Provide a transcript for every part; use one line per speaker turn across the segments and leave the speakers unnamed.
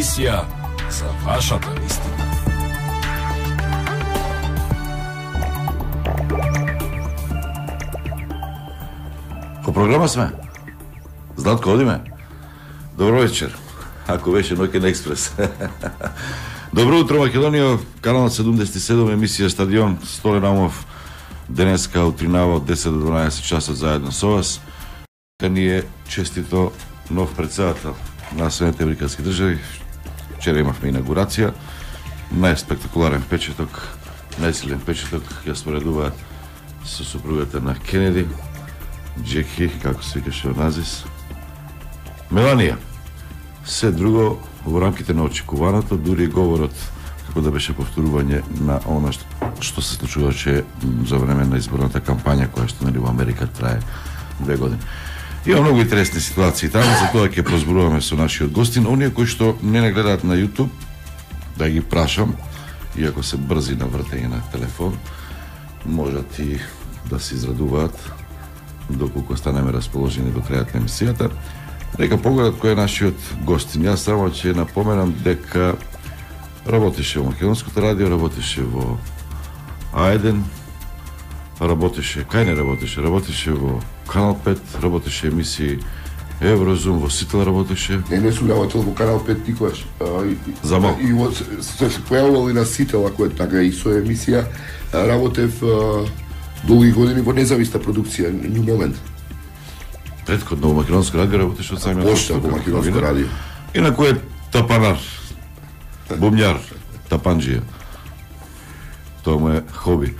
емисија за вашата вистина.
По програма сме. Златко, одиме. Добро вечер. Ако беше Ноќен експрес. Добро утро, Македонија. Канал 77, емисија Стадион. Столен Амов. Денеска утринава од 10 до 12 часа заедно со вас. Ни е честито нов председател на Соединетите Американски држави. Вчера имавме инаугурација. Најспектакуларен печеток, најсилен печеток ја споредуваат со супругата на Кенеди, Джеки, како се викаше Оназис, Меланија. Се друго во рамките на очекуваното, дури говорот како да беше повторување на она што се случуваше за време на изборната кампања која што во Америка трае 2 години. Има многу интересни ситуации таму, за тоа ќе прозборуваме со нашиот гостин. Оние кои што не гледаат на YouTube, да ги прашам, иако се брзи на вртење на телефон, можат и да се израдуваат доколку станеме расположени до крајот на емисијата. Нека погледат кој е нашиот гостин. Јас само ќе напоменам дека работеше во Македонското радио, работеше во А1, работеше, кај не работеше? Работеше во Канал 5, работеше емисии Еврозум, во Сител работеше.
Не сум работел во Канал 5 никогаш.
Замал.
И се појавувал и на Сител, ако е така, и со емисија работев долги години во независна продукција, New Moment.
Предходно во Македонско радио работеше од самиот
Пошта во Македонско радио.
И на кој е тапанар, бумњар, тапанџија. Тоа му е хоби.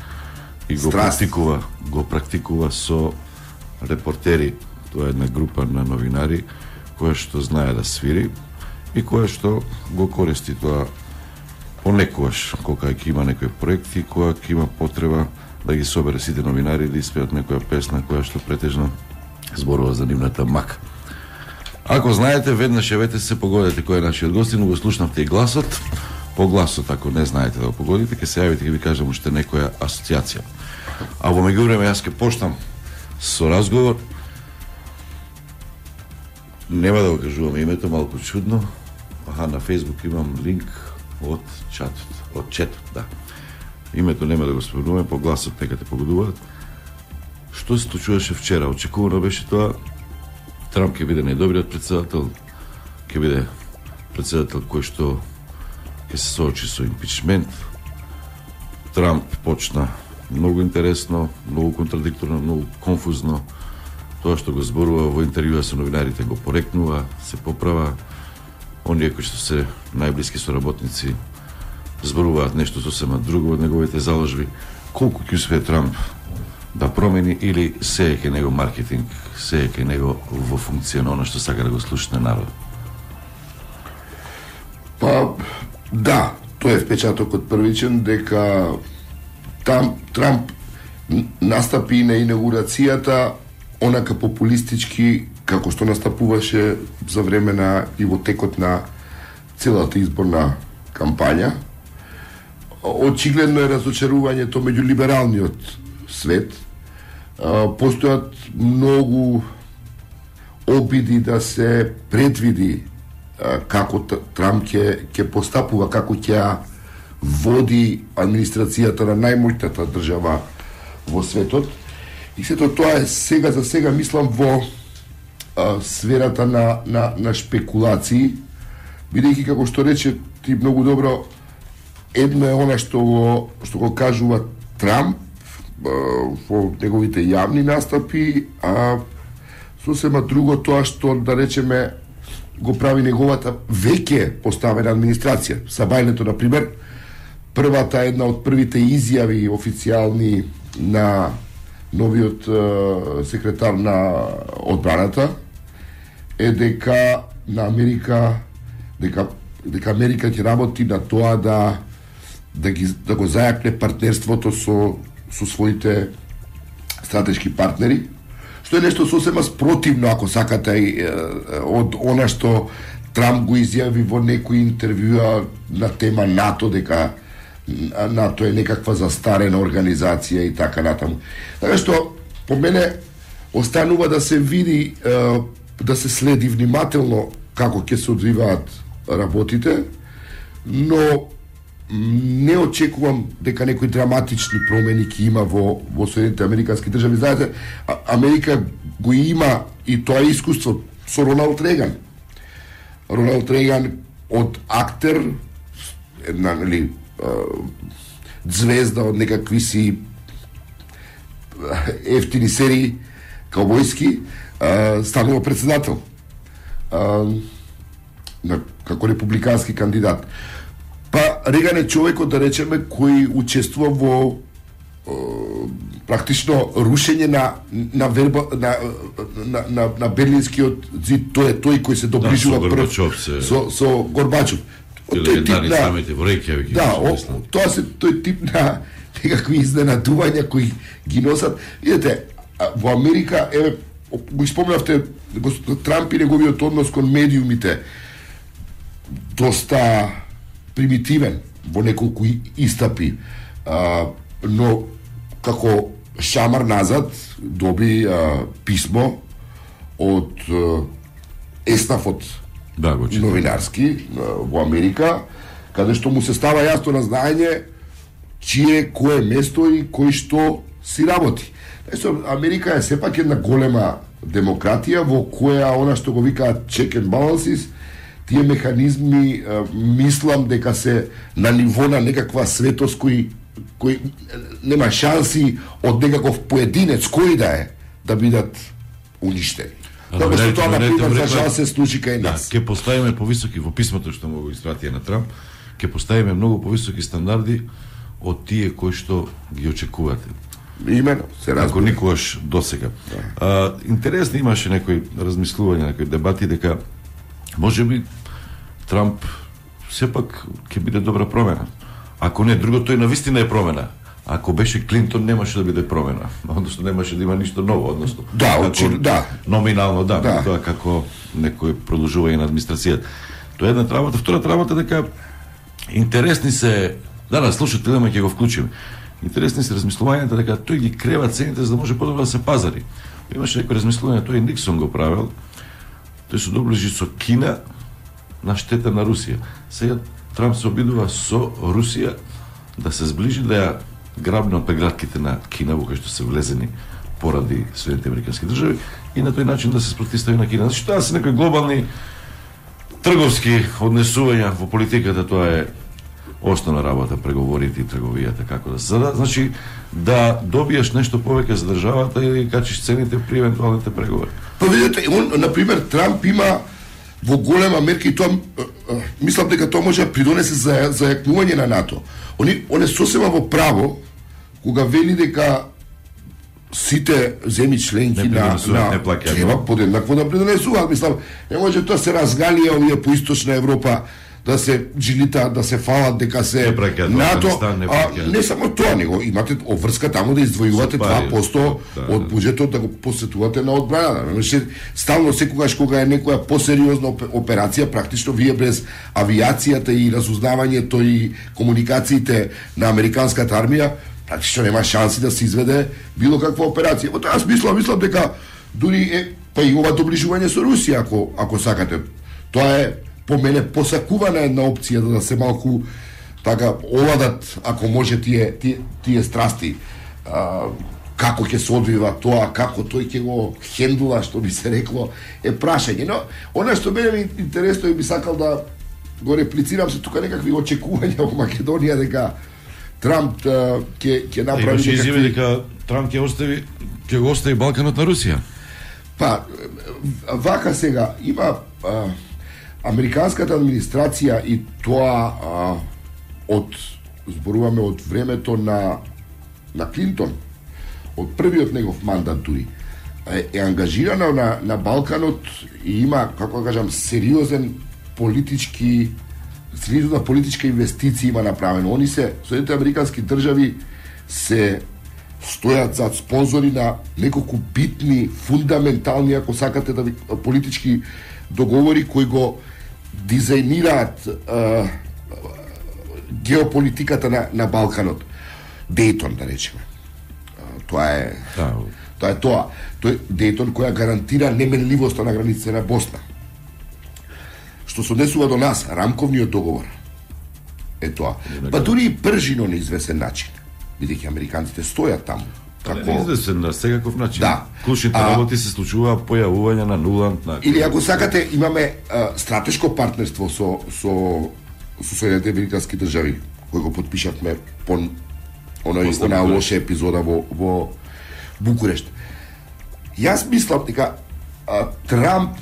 И го практикува со репортери. Тоа е една група на новинари која што знае да свири и која што го користи тоа понекогаш кога ќе има некој проект и кога ќе има потреба да ги собере сите новинари да испеат некоја песна која што претежно зборува за нивната мака. Ако знаете, веднаш јавете се, погодете кој е нашиот гостин, го слушнавте и гласот. По гласот, ако не знаете да го погодите, ќе се јавите, ќе ви кажам уште некоја асоциација. А во меѓувреме јас ќе почнам со разговор. Нема да го кажувам името, малку чудно. На Facebook имам линк од четот, да. Името нема да го спомнуваме, по гласот нека те погодуваат. Што се случуваше вчера? Очекувано беше тоа. Трамп ќе биде најдобриот председател, ќе биде председател кој што ќе се соочи со импичмент. Трамп почна многу интересно, многу контрадикторно, многу конфузно. Тоа што го зборува во интервјуа со новинарите го порекнува, се поправа. Оние кои што се најблиски соработници зборуваат нешто сосема друго од неговите заложби. Колку ќе успее Трамп да промени или се е кај него маркетинг, се е кај него во функција на оно што сака да го слушне народ?
Па, да, тоа е впечатокот првичен, дека Трамп настапи на инаугурацијата онака популистички како што настапуваше за време на и во текот на целата изборна кампања. Очигледно е разочарувањето меѓу либералниот свет. Постојат многу обиди да се предвиди како Трамп ќе постапува, како ќе води администрацијата на најмоćната држава во светот. И сето тоа е сега за сега, мислам, во сферата на шпекулации, бидејќи, како што рече ти многу добро, едно е она што го кажува Трамп во неговите јавни настапи, а сосема друго тоа што, да речеме, го прави неговата веќе поставена администрација. Сабајлето, например, првата, една од првите изјави официјални на новиот секретар на одбраната е дека на Америка дека Америка ќе работи на тоа да го зајакне партнерството со своите стратешки партнери, што е нешто сосема спротивно, ако сакате, од она што Трамп го изјави во некои интервјуа на тема НАТО, дека НАТО е некаква застарена организација и така натаму. Така што, по мене, останува да се види, да се следи внимателно како ќе се одвиваат работите, но не очекувам дека некои драматични промени ќе има во Соединените Американски држави. Знаете, Америка го има и тоа искуство со Роналд Реган. Роналд Реган од актер, една звезда од некакви си ефтини серии каубојски, станува председател како републикански кандидат. Па Реган е човекот, да речеме, кој учествува во практично рушење на Берлинскиот зид. Тој е тој кој се доближува прв со Горбачов.
Тој тип на самите во Рејкјавик.
Да, тој тип на некакви изненадувања кои ги носат. Видете, во Америка, еве, го спомнавте Трамп и неговиот однос кон медиумите, доста примитивен во неколку истапи, но како шамар назад доби писмо од еснафот новинарски во Америка, каде што му се става јасно на знаење чие кое место и кој што си работи. Америка е сепак една голема демократија во која она што го викаат check and balances, тие механизми, мислам дека се на ниво на некаква светост кој нема шанси од некаков поединец кој да бидат уништени. Како што тоа, например, за жал се случи кај нас.
Ке поставиме повисоки, во писмото што му го испратија на Трамп, ке поставиме многу повисоки стандарди од тие кои што ги очекувате.
Имено, се разбира.
Ако никогаш досега. Интересно имаше некои размислувања, некои дебати дека можеби Трамп сепак ќе биде добра промена. Ако не друго, тој навистина е промена. Ако беше Клинтон, немаше да биде промена. Односно, немаше да има ништо ново. Односно, номинално, тоа како некој продолжување на администрацијата. Тоа е една работа. Втората работа дека интересни се... слушате, ќе го вклучиме. Интересни се размислувањата дека тој ги крева цените за да може подобро да се пазари. Имаше некој размислување, тој Никсон го правил. Тој се доближи со Кина на штета на Русија. Сега Трамп се обидува со Русија да се сближи, да ја грабне од прегратките на Кина, во кои што се влезени поради Соединените Американски држави, и на тој начин да се спротивстави на Кина. Значи, тоа се некои глобални трговски однесувања во политиката, тоа е основна работа, преговорите и трговијата, како да се зада. Значи, да добиеш нешто повеќе за државата или качиш цените при евентуалните преговори.
Па видите, например, Трамп има во голема мерка и тоа, мислам дека тоа може да придонесе за зајакнување на НАТО. Он е сосема во право кога вели дека сите земји членки на треба подеднакво да придонесуваат. Мислам, не може тоа се разгалија овие по Источна Европа да се джилита, да се фалат дека се НАТО, не само тоа, него имате обврска таму да издвојувате 2% од буџетот да го посетувате на одбрана. Стално секогаш кога е некоја посериозна операција, практично вие без авиацијата и разузнавањето и комуникациите на американската армија, практично нема шанси да се изведе било каква операција. Во тоа мислам дека дури е па и ова доближување со Русија, ако сакате. Тоа е по мене посакувана една опција да се малку така оладат, ако може тие страсти, како ќе се одвива тоа, како тој ќе го хендула, што би се рекло, е прашање. Но она што мене ми интересно и би сакал да го реплицирам се тука некакви очекувања во Македонија дека Трамп ќе направи
некакви... изјави дека Трамп ќе го остави Балканот на Русија.
Па, вака сега, има американската администрација и тоа зборуваме од времето на Клинтон, од првиот негов мандат дури, е ангажирана на Балканот и има, како да кажам, сериозна политичка инвестиција има направено. Соединените Американски држави се стојат зад спонзори на неколку битни, фундаментални, ако сакате да политички договори кои го дизајнираат геополитиката на Балканот. Дејтон, да речеме. Тоа е тоа. Тој Дејтон која гарантира неменливоста на границите на Босна. што се однесува до нас, рамковниот договор, е тоа. Па дури и пржино на извесен начин, бидејќи американците стојат таму.
Не извесен на секаков начин.
Да.
Клучните работи се случува појавување на нулант на...
Или ако сакате, имаме стратешко партнерство со Соединетите американски држави, кој го подпишавме по онаа лоша епизода во Букурешт. Јас мислам дека Трамп,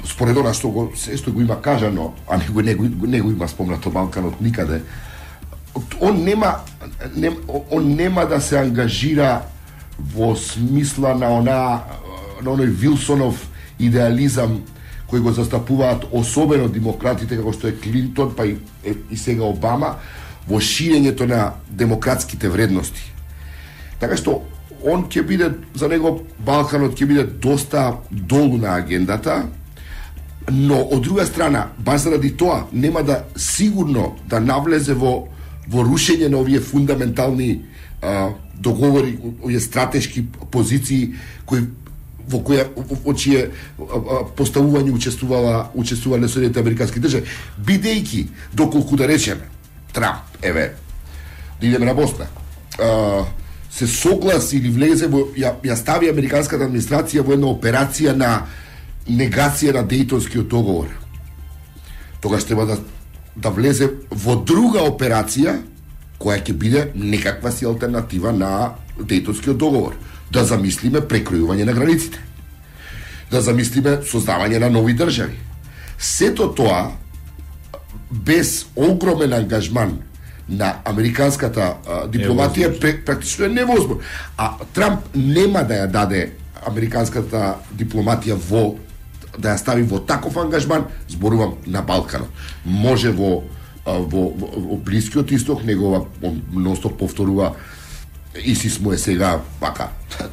според она што го има кажано, а не го има спомнато Балканот никаде, он нема да се ангажира во смисла на оној Вилсонов идеализам кој го застапуваат особено демократите како што е Клинтон, па и сега Обама, во ширењето на демократските вредности. Така што он ќе биде, за него Балканот ќе биде доста долу на агендата, но од друга страна, баш заради тоа, нема да сигурно да навлезе во рушење на овие фундаментални договори, овие стратешки позиции во чие поставување учествувале Соединетите американски држави, бидејќи, доколку да речеме, Трамп, да идеме на Босна, се согласи или влезе ја стави американската администрација во една операција на негација на Дејтонскиот договор. Тогаш треба да влезе во друга операција која ќе биде некаква си алтернатива на Дејтонскиот договор. Да замислиме прекројување на границите. Да замислиме создавање на нови држави. Сето тоа без огромен ангажман на американската дипломатија практично е невозможно. А Трамп нема да ја даде американската дипломатија да ја стави во таков ангажман, зборувам на Балканот. Може во Блискиот исток, негова ностоп повторува ИСИС му е сега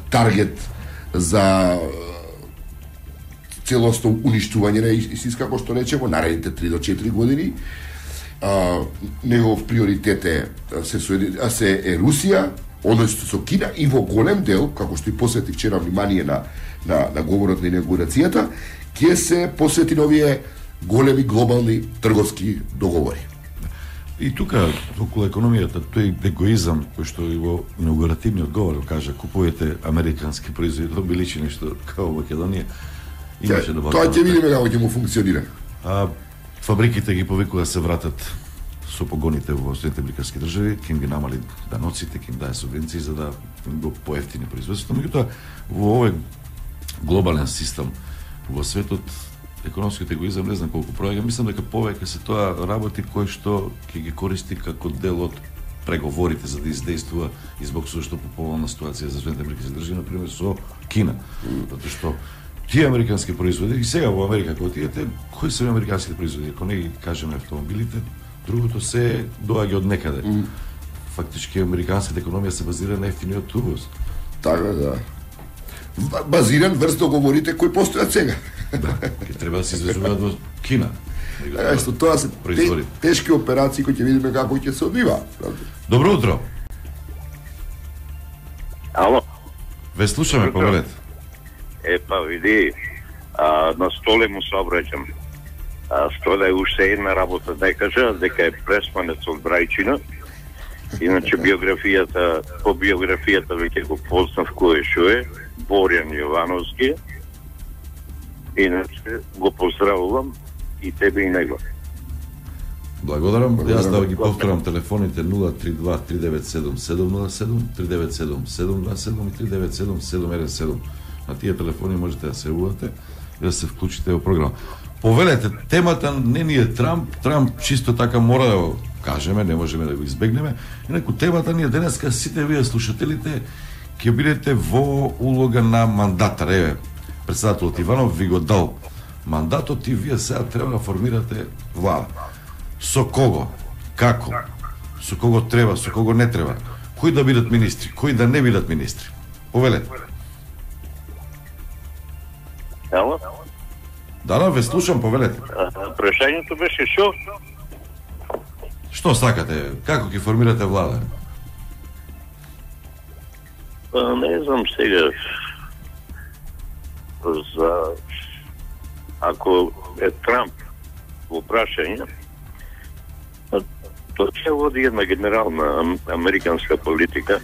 таргет за целосно уништување на ИСИС, како што рече, во наредните 3 до 4 години. Негов приоритет е Русија, односно со Кина, и во голем дел, како што и посвети вчера внимание на говорот на инаугурацијата, ќе се посвети на овие големи глобални трговски договори.
И тука, околу економијата, тој егоизам, кој што и во инаугуративниот говор кажа, купувате американски производители, би личи нешто као Македонија, имаше да
тоа ќе видиме како ќе му функционира.
Фабриките ги повикува да се вратат со погоните во Соединетите американски држави, ќе им ги намали даноците, ќе им даде субвенции за да го поевтини производството. Меѓутоа, во овој глобален систем во светот, економскиот егоизам не знам колку проаѓа, мислам дека повеќе се тоа работи кои што ќе ги користи како дел од преговорите за да издействува избог што пополна ситуација за Соединетите американски држави, например со Кина. Затоа што тие американски производители, и сега во Америка кога отидете, кои се американските производители? Ако не ги кажеме автомобилите, другото се доаѓа од некаде. Фактички американската економија се базира на ефтиниот увоз.
Така да. Базиран врз договорите кои постојат сега.
Да, ќе треба да се извезуваат во Кина.
Што тоа се тешки операции кои ќе видиме како ќе се одвива.
Добро утро.
Ало.
Ве слушаме, повелете.
Епа, види, на Столе му се обраќам. Столе е уште една работа да кажа, дека е преспанец од Брајчина. Иначе по биографијата веќе го познав кој шо е, Борјан Јовановски. Иначе го поздравувам и тебе и него.
Благодарам. Јас да ги повторам телефоните 032-397-707, 397-727 и 397-717. На тие телефони можете да се јавувате и да се вклучите во програма. Повелете, темата не ни е Трамп. Трамп чисто така мора да го кажеме, не можеме да го избегнеме. Инаку темата ни е денеска, сите вие слушателите ќе бидете во улога на мандатар. Еве, председателот Иванов ви го дал мандатот и вие сега треба да формирате влада. Со кого? Како? Со кого треба, со кого не треба? Кои да бидат министри, кои да не бидат министри? Повелете.
Ало?
Да, ве слушам, повелете.
Прашањето беше шо?
Што сакате? Како ќе формирате влада?
Не знам сега. Ако е Трамп во прашање, тоа ќе води една генерална американска политика,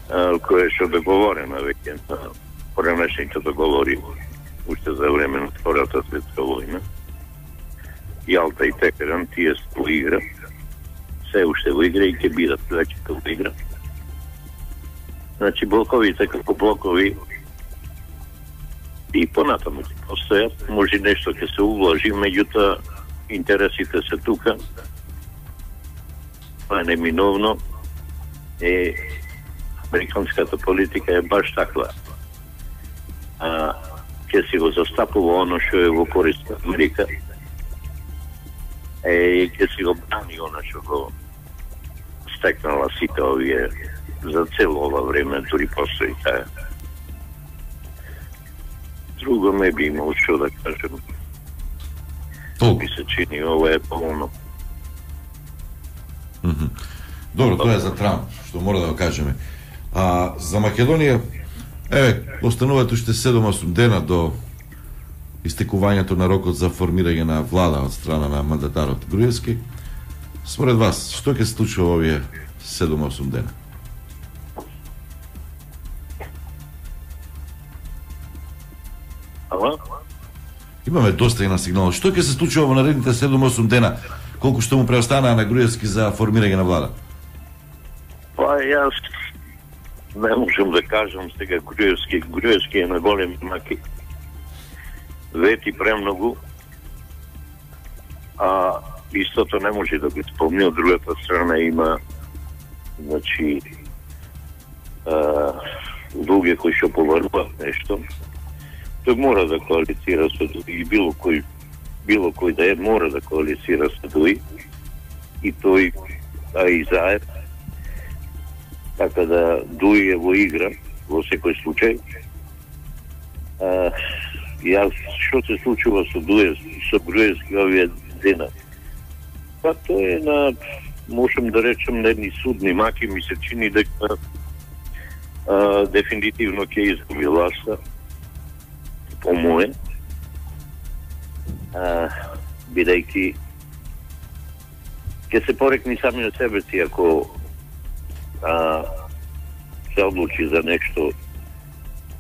која што договорена веќе на поранешните договори уште за време на Втората светска војна. Јалта и Текеран, тие во игра, се уште во игра и ќе бидат веќе во игра. Значи, блоковите како блокови и понатаму ќе постојат, може нешто ќе се увложи, меѓутоа интересите се тука, тоа е неминовно, американската политика е баш таква. Ќе си го застапува оно што е во корист на Америка, и ќе си го брани оно што го стекнала сите овие за цело ова време, дури постои таа. Друго не би имал што да кажем. Би се чини, ова е полно.
Добро, тоа е за Трамп, што мора да го кажеме. А за Македонија, остануваат уште 7-8 дена до истекувањето на рокот за формирање на влада од страна на мандатарот Груевски. Според вас, што ќе се случи во овие 7-8 дена? Имаме доста и на сигнал. Што ќе се случи во наредните 7-8 дена? Колку што му преостанаа на Груевски за формирање на влада?
Па јас не можам да кажам сега Груевски е на големи маки. Вети премногу, а истото не може да го исполни. Од другата страна има, значи, луѓе кои што поваруваат нешто. Тој мора да коалицира со Дуи, било кој да е, мора да коалицира со Дуи, и тој, и заед. Така да Дуи е во игра, во секој случај. Јас, што се случува со Груевски овие дена? Па тоа е на, можем да речем, на едни судни маки, ми се чини дека дефинитивно ќе изгуби власта, по мое, бидејќи ќе се порекни сами на себе си ако се одлучи за нешто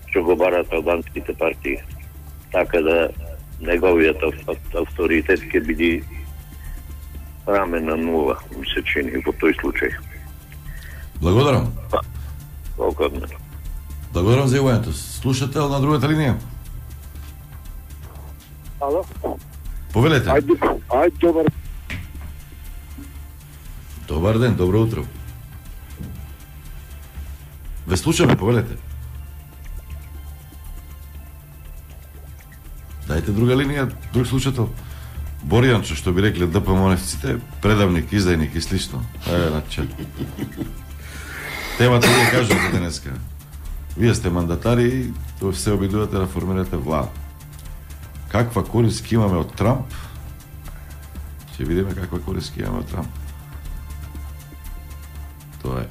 што го барат албанските партии. Така да неговиот авторитет ќе биде рамен на нула, ми се чини во тој случај.
Благодарам.
Благодарам.
Благодарам за јавањето. Слушател на другата линија.
Ало?
Повелете.
Ајде, добар.
Добар ден, добро утро. Ве слушаме, повелете. Дајте друга линија, друг слушател. Боријанчо, што би рекле ДПМНФ-ците, предавник, издајник и слично. Значи. Темата ви кажете денеска. Вие сте мандатари и се обидувате да формирате влада. Каква корист имаме од Трамп? Ќе видиме каква корист имаме од Трамп. Тоа е.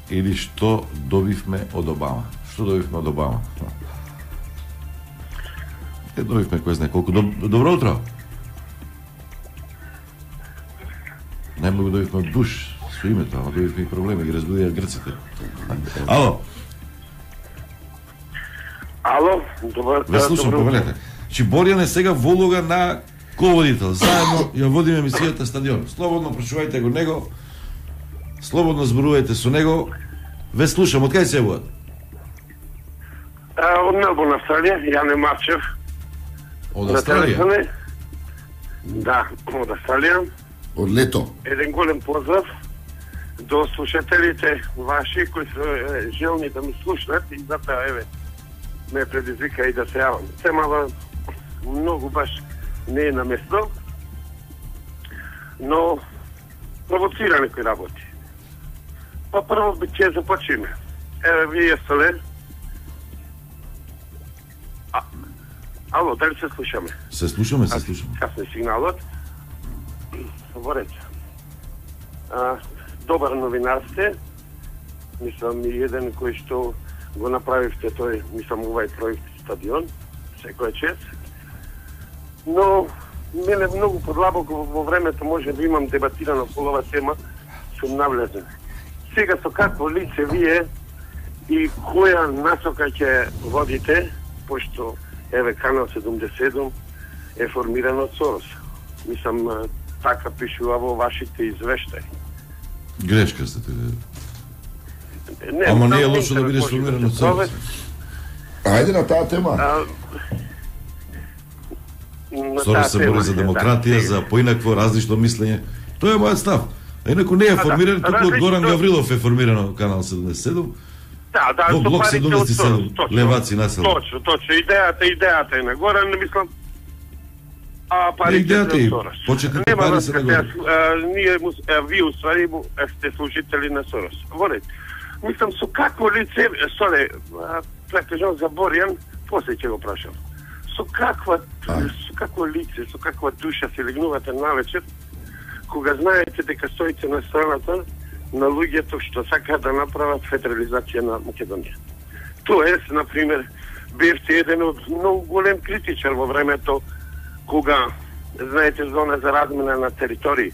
Или што добивме од Обама. Што добивме од Обама? Добивме кој знае колку. Добро утро. Најмногу добивме од Буш со името, ама добивме и проблеми, ги разбудија грците. Ало.
Ало, добар.
Ве слушам, повелете. Чи Боријан е сега во улога на ководител. Заедно ја водиме емисијата Стадион. Слободно прашувајте го него. Слободно зборувајте со него. Ве слушам, од кај се јавуват?
Од Мелбурн, Австралија, Јане Марчев.
Од Австралија?
Да, од Австралија.
Од лето.
Еден голем поздрав до слушателите ваши кои се желни да ми слушнат и затоа еве ме предизвика и да се јавам. Темава многу баш не е на место, но провоцира некои работи. Па прво ќе започнеме. Еве вие сте. Ало, дали се слушаме?
Се слушаме, се слушаме.
Касен сигналот. Во ред. Добар новинар сте. Мислам и еден кој што го направивте тој, мислам, овај проект Стадион. Секој чест. Но мене многу подлабоко во времето може да имам дебатирано по ова тема, сум навлезен. Сега со какво лице вие и која насока ќе водите, пошто еве Канал 77 е формиран од Сорос. Мислам, така пишува во вашите извештаи.
Грешка сте те. Ама не е лошо да бидеш формиран од Сорос.
Ајде на таа тема.
Сорос се бори за демократија, за поинакво различно мислење. Тоа е мојот став. А инаку не е формиран, туку од Горан Гаврилов е формирано Канал 77.
Да,
во блок 77, леваци насел.
Точно, идејата е на Горан, не мислам. А парите
идејата
е
е,
Сорос.
почетните пари се на Горан.
Вие уствари сте служители на Сорос. Волете. Мислам, со какво лице, прекажам за Борјан, после ќе го прашам. Со какво лице, со каква душа се легнувате навечер, кога знаете дека стоите на страната на луѓето што сакаат да направат федерализација на Македонија. Тоест, например, бевте еден од многу голем критичар во времето кога, знаете, зона за размена на територии.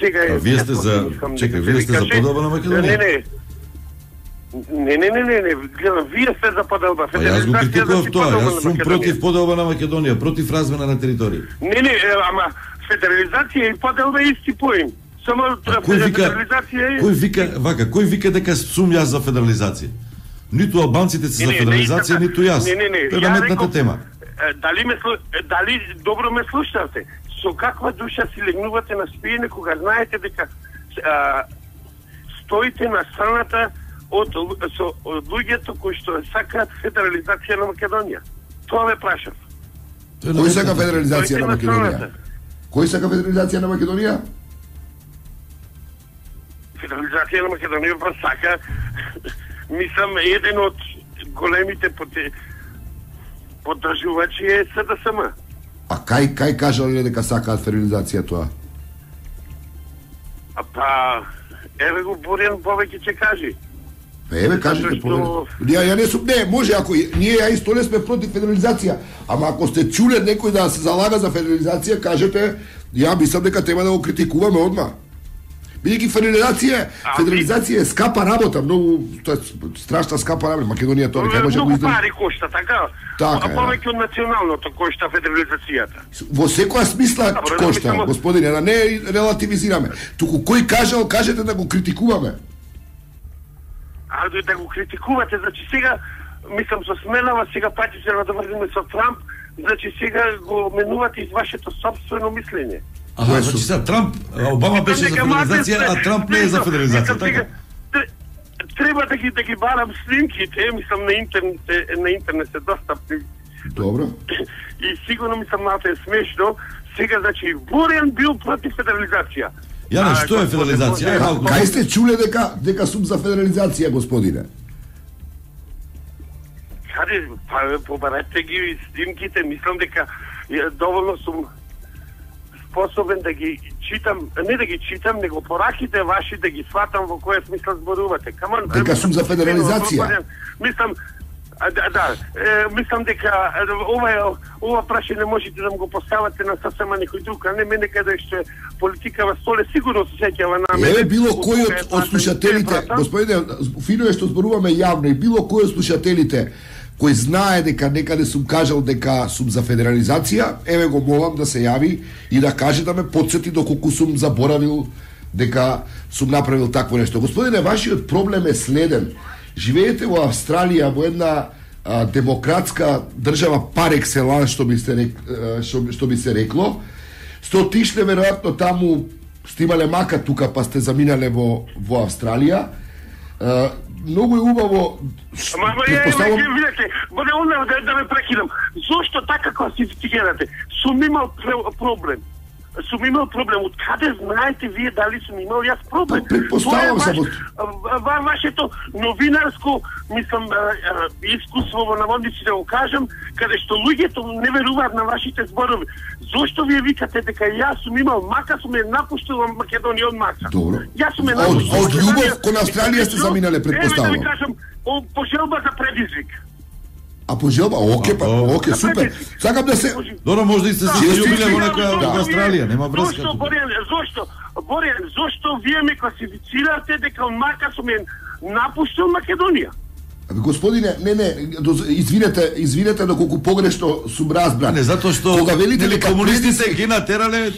Сега е...
Вие сте за... Чекай, вие сте за поделба на Македонија?
Не, гледам, вие сте за поделба.
Јас го критикував тоа, јас сум против поделба на Македонија, против размена на територии.
Не, ама федерализација и поделба е исти поим. Само федерализација е...
Кој вика дека сум јас за федерализација? Ниту албанците се за федерализација, ниту јас. Тоа е наметната тема.
Дали добро ме слушате? Со каква душа си легнувате на спиење кога знаете дека стоите на страната од луѓето кои што сакаат федерализација на Македонија? Тоа ме прашав.
Кој сака федерализација на Македонија? Кој сака федерализација на Македонија?
Федерализација на Македонија па сака, мислам, еден од големите поддржувачи е СДСМ.
А кај кажале дека сакаат федерализација тоа?
Па, еве го Борјан повеќе ќе кажи.
Еве кажете повеќе. Ја не сум, не, може ако ние ја исто не сме против федерализација, ама ако сте чуле некој да се залага за федерализација, кажете, ја мислам дека треба да го критикуваме одма. Бидејќи федерализација е скапа работа, многу тоа е страшна скапа работа. Македонија тоа не може да го
издржи. Пари кошта, така?
Така е.
Повеќе од националното кошта федерализацијата.
Во секоја смисла кошта, господине, да не релативизираме. Туку кој кажал, кажете да го критикуваме.
Да го критикувате, значи сега, мислам, со сменава, сега пати се надоврзиме со Трамп, значи сега го менувате из вашето собствено мислење.
Значи сега Трамп, Обама беше за федерализација, а Трамп не е за федерализација, така?
Треба да ги барам снимките, мислам на интернет се достапни.
Добро.
И сигурно мислам малку е смешно. Сега, значи, Борјан бил против федерализација.
Јане, што е федерализација?
Кај сте чуле дека сум за федерализација, господине?
Каде, побарете ги снимките, мислам дека доволно сум способен да ги читам, не да ги читам, него пораките ваши да ги сватам во која смисла зборувате.
Дека сум за федерализација.
Мислам, мислам дека ова прашање можете да го поставате на сасема некој друг, а не мене каде што е политика во столе, сигурно се сеќава на мене.
Еве било кој од слушателите, господине, фино е што зборуваме јавно, и било кој од слушателите кој знае дека некаде сум кажал дека сум за федерализација, еве го молам да се јави и да каже да ме потсети доколку сум заборавил дека сум направил такво нешто. Господине, вашиот проблем е следен. Живеете во Австралија, во една демократска држава пар екселанс, што би се рекло. Сте отишле веројатно таму, сте имале мака тука, па сте заминале во Австралија. Многу е убаво.
Предпоставам, да ме прекинам. Зошто така класифицирате? Сум имал проблем. Од каде знаете вие дали сум имал јас проблем?
Предпоставам само.
Вашето новинарско, мислам, искуство во наводници да го кажам, каде што луѓето не веруваат на вашите зборови. Зошто вие викате дека јас сум имал мака, сум ја напуштил Македонија од мака?
Добро.
Јас сум ја напуштил.
Од љубов кон Австралија сте заминале, предпоставам.
Еве да ви кажам, по желба за предизвик.
А по желба, оке, супер. Сакам да се
Добро, може да и се биле во некоја Австралија, нема врска.
Зошто, Борјан, зошто вие ме класифицирате дека он Маркасов ме напуштил Македонија?
Господине, извинете доколку погрешно сум разбран.
Не, затоа што
кога велите дека
комунистите ги натерале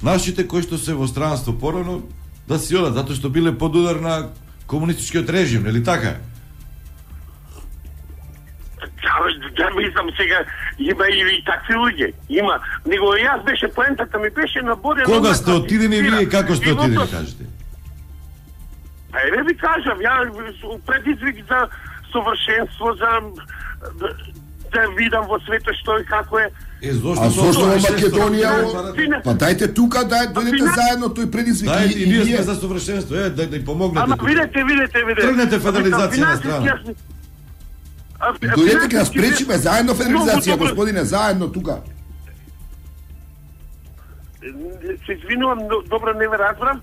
нашите кои што се во странство порано да си одат, затоа што биле под удар на комунистичкиот режим, нели така?
Да, мислам сега, има и такви луѓе, има. Него јас беше поентата ми беше на Борјан.
Кога сте отидени вие, како сте отидени, кажете?
Еве ви кажам, ја предизвик за совршенство, за да видам во светот што и како е.
Зошто во Македонија? Па дајте тука, дојдете заедно тој предизвик.
Дајте и ние сме за совршенство, да ни помогнете.
Ама видете.
Тргнете федерализација на страна.
Дојдете ќе спречиме заедно федерализација, господине, заедно тука.
Се извинувам, добро не ве разбрам.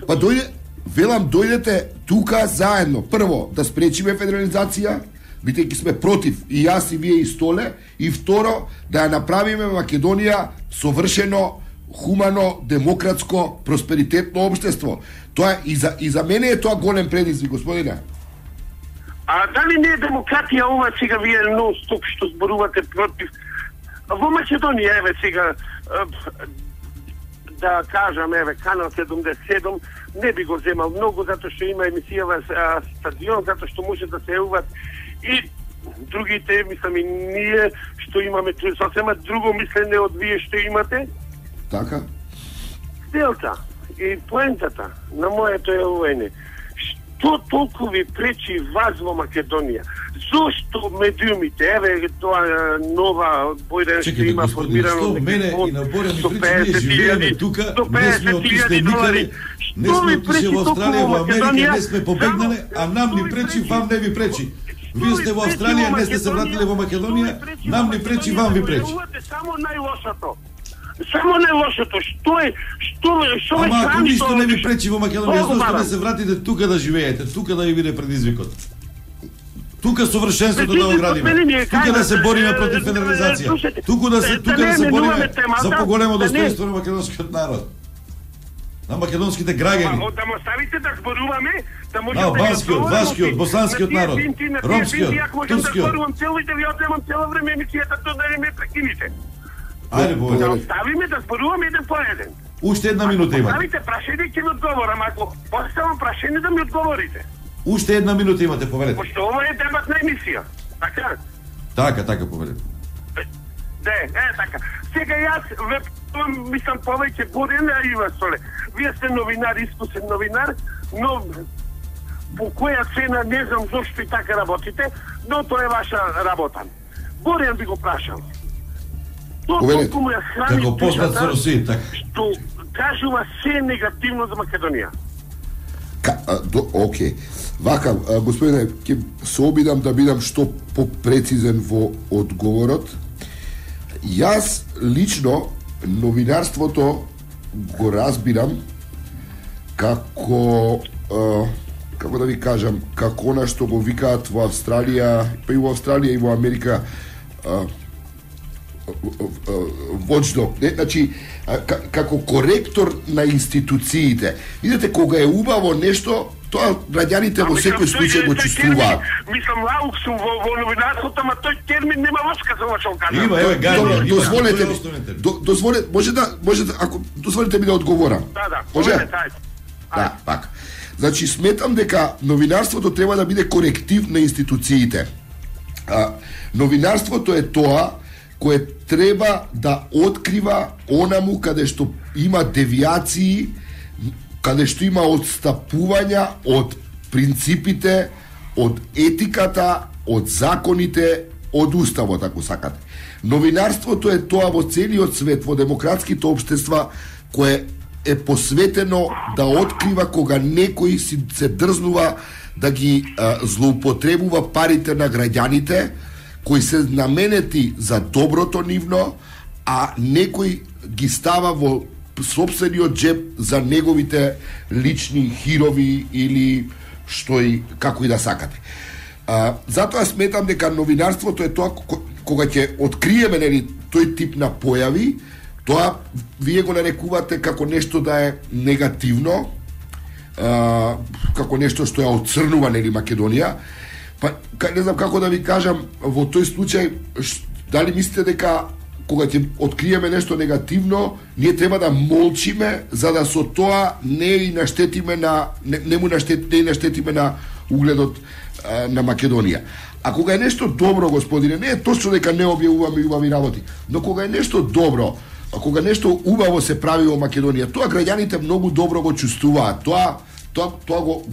Па дојдете тука заедно. Прво, да спречиме федерализација, бидејќи сме против, и јас и вие и Столе, и второ, да ја направиме Македонија совршено, хумано, демократско, просперитетно општество. Тоа и за мене е тоа голем предизвик, господине.
А дали не е демократија ова сега вие нон-стоп што зборувате против? Во Македонија, еве сега, да кажам, еве, Канал 77, не би го земал многу, затоа што има емисија во стадион, затоа што може да се јават и другите, мислам и ние, што имаме сосема друго мислене од вие што имате.
Така?
Делта и поентата на моето е ОН. Што толку ви пречи вас во Македонија? Зошто медиумите, еве тоа нова Бојрен што има формирано
што мене и на Борјан ми пречи, ние живееме тука, не сме отишли никаде, не сме отишли во Австралија, во Америка, не сме побегнале, а нам ни пречи, вам не ви пречи. Вие сте во Австралија, не сте се вратиле во Македонија, нам ни пречи, вам ви пречи.
Само најлошото. Само најлошото, што е
ама ако ништо не ви пречи во Македонија, зошто не се вратите тука да живеете, тука да ви биде предизвикот? Тука совршенството да го градиме. Тука да се бориме против федерализација. Тука да се бориме за поголемо достоинство на македонскиот народ. На македонските граѓани.
Да му ставите да зборуваме, да може
да банскиот, вашкиот, босанскиот народ, ромскиот, турскиот.
Зборувам цело и да ви одземам цело време емисијата, тоа да не ме прекинете.
Ајде, Бојан.
Да оставиме да зборуваме еден по еден.
Уште една минута имате.
Ставите прашање ќе ми одговорам, ако поставам прашање да ми одговорите.
Уште една минута имате, повелете.
Пошто ова е дебатна емисија. Така?
Така, повелете.
Така. Сега јас мислам повеќе Борјан и вас Соле. Вие сте новинар, искусен новинар, но по која цена не знам зошто и така работите, но тоа е ваша работа. Борјан би го прашал. Толку му ја храни душата, што кажува се негативно за Македонија.
Океј. Вака, господине, ќе се обидам да бидам што попрецизен во одговорот. Јас лично новинарството го разбирам како да ви кажам, како она што го викаат во Австралија, па и во Австралија и во Америка watchdog, значи како коректор на институциите. Видете, кога е убаво нешто, тоа граѓаните во секој случај го чувствуваат.
Мислам, лаук сум во новинарството, ама тој термин нема врска за ова што кажам.
Има, еве, Гарди,
дозволете, може да, ако дозволите ми да одговорам.
Да,
може? Да, пак. Значи, сметам дека новинарството треба да биде коректив на институциите. Новинарството е тоа кое треба да открива онаму каде што има девијации, каде што има отстапувања од принципите, од етиката, од законите, од уставот, ако сакате. Новинарството е тоа во целиот свет, во демократските општества, кое е посветено да открива кога некој се дрзнува да ги злоупотребува парите на граѓаните, кои се наменети за доброто нивно, а некој ги става во сопствениот джеб за неговите лични хирови или што и како и да сакате. Затоа сметам дека новинарството е тоа кога ќе откриеме нели тој тип на појави, тоа вие го нарекувате како нешто да е негативно, како нешто што ја оцрнува нели Македонија. Па не знам како да ви кажам во тој случај, дали мислите дека кога ќе откриеме нешто негативно, ние треба да молчиме за да со тоа не наштетиме на угледот на Македонија. А кога е нешто добро, господине, не е точно дека не објавуваме убави работи, но кога е нешто добро, кога нешто убаво се прави во Македонија, тоа граѓаните многу добро го чувствуваат. Тоа го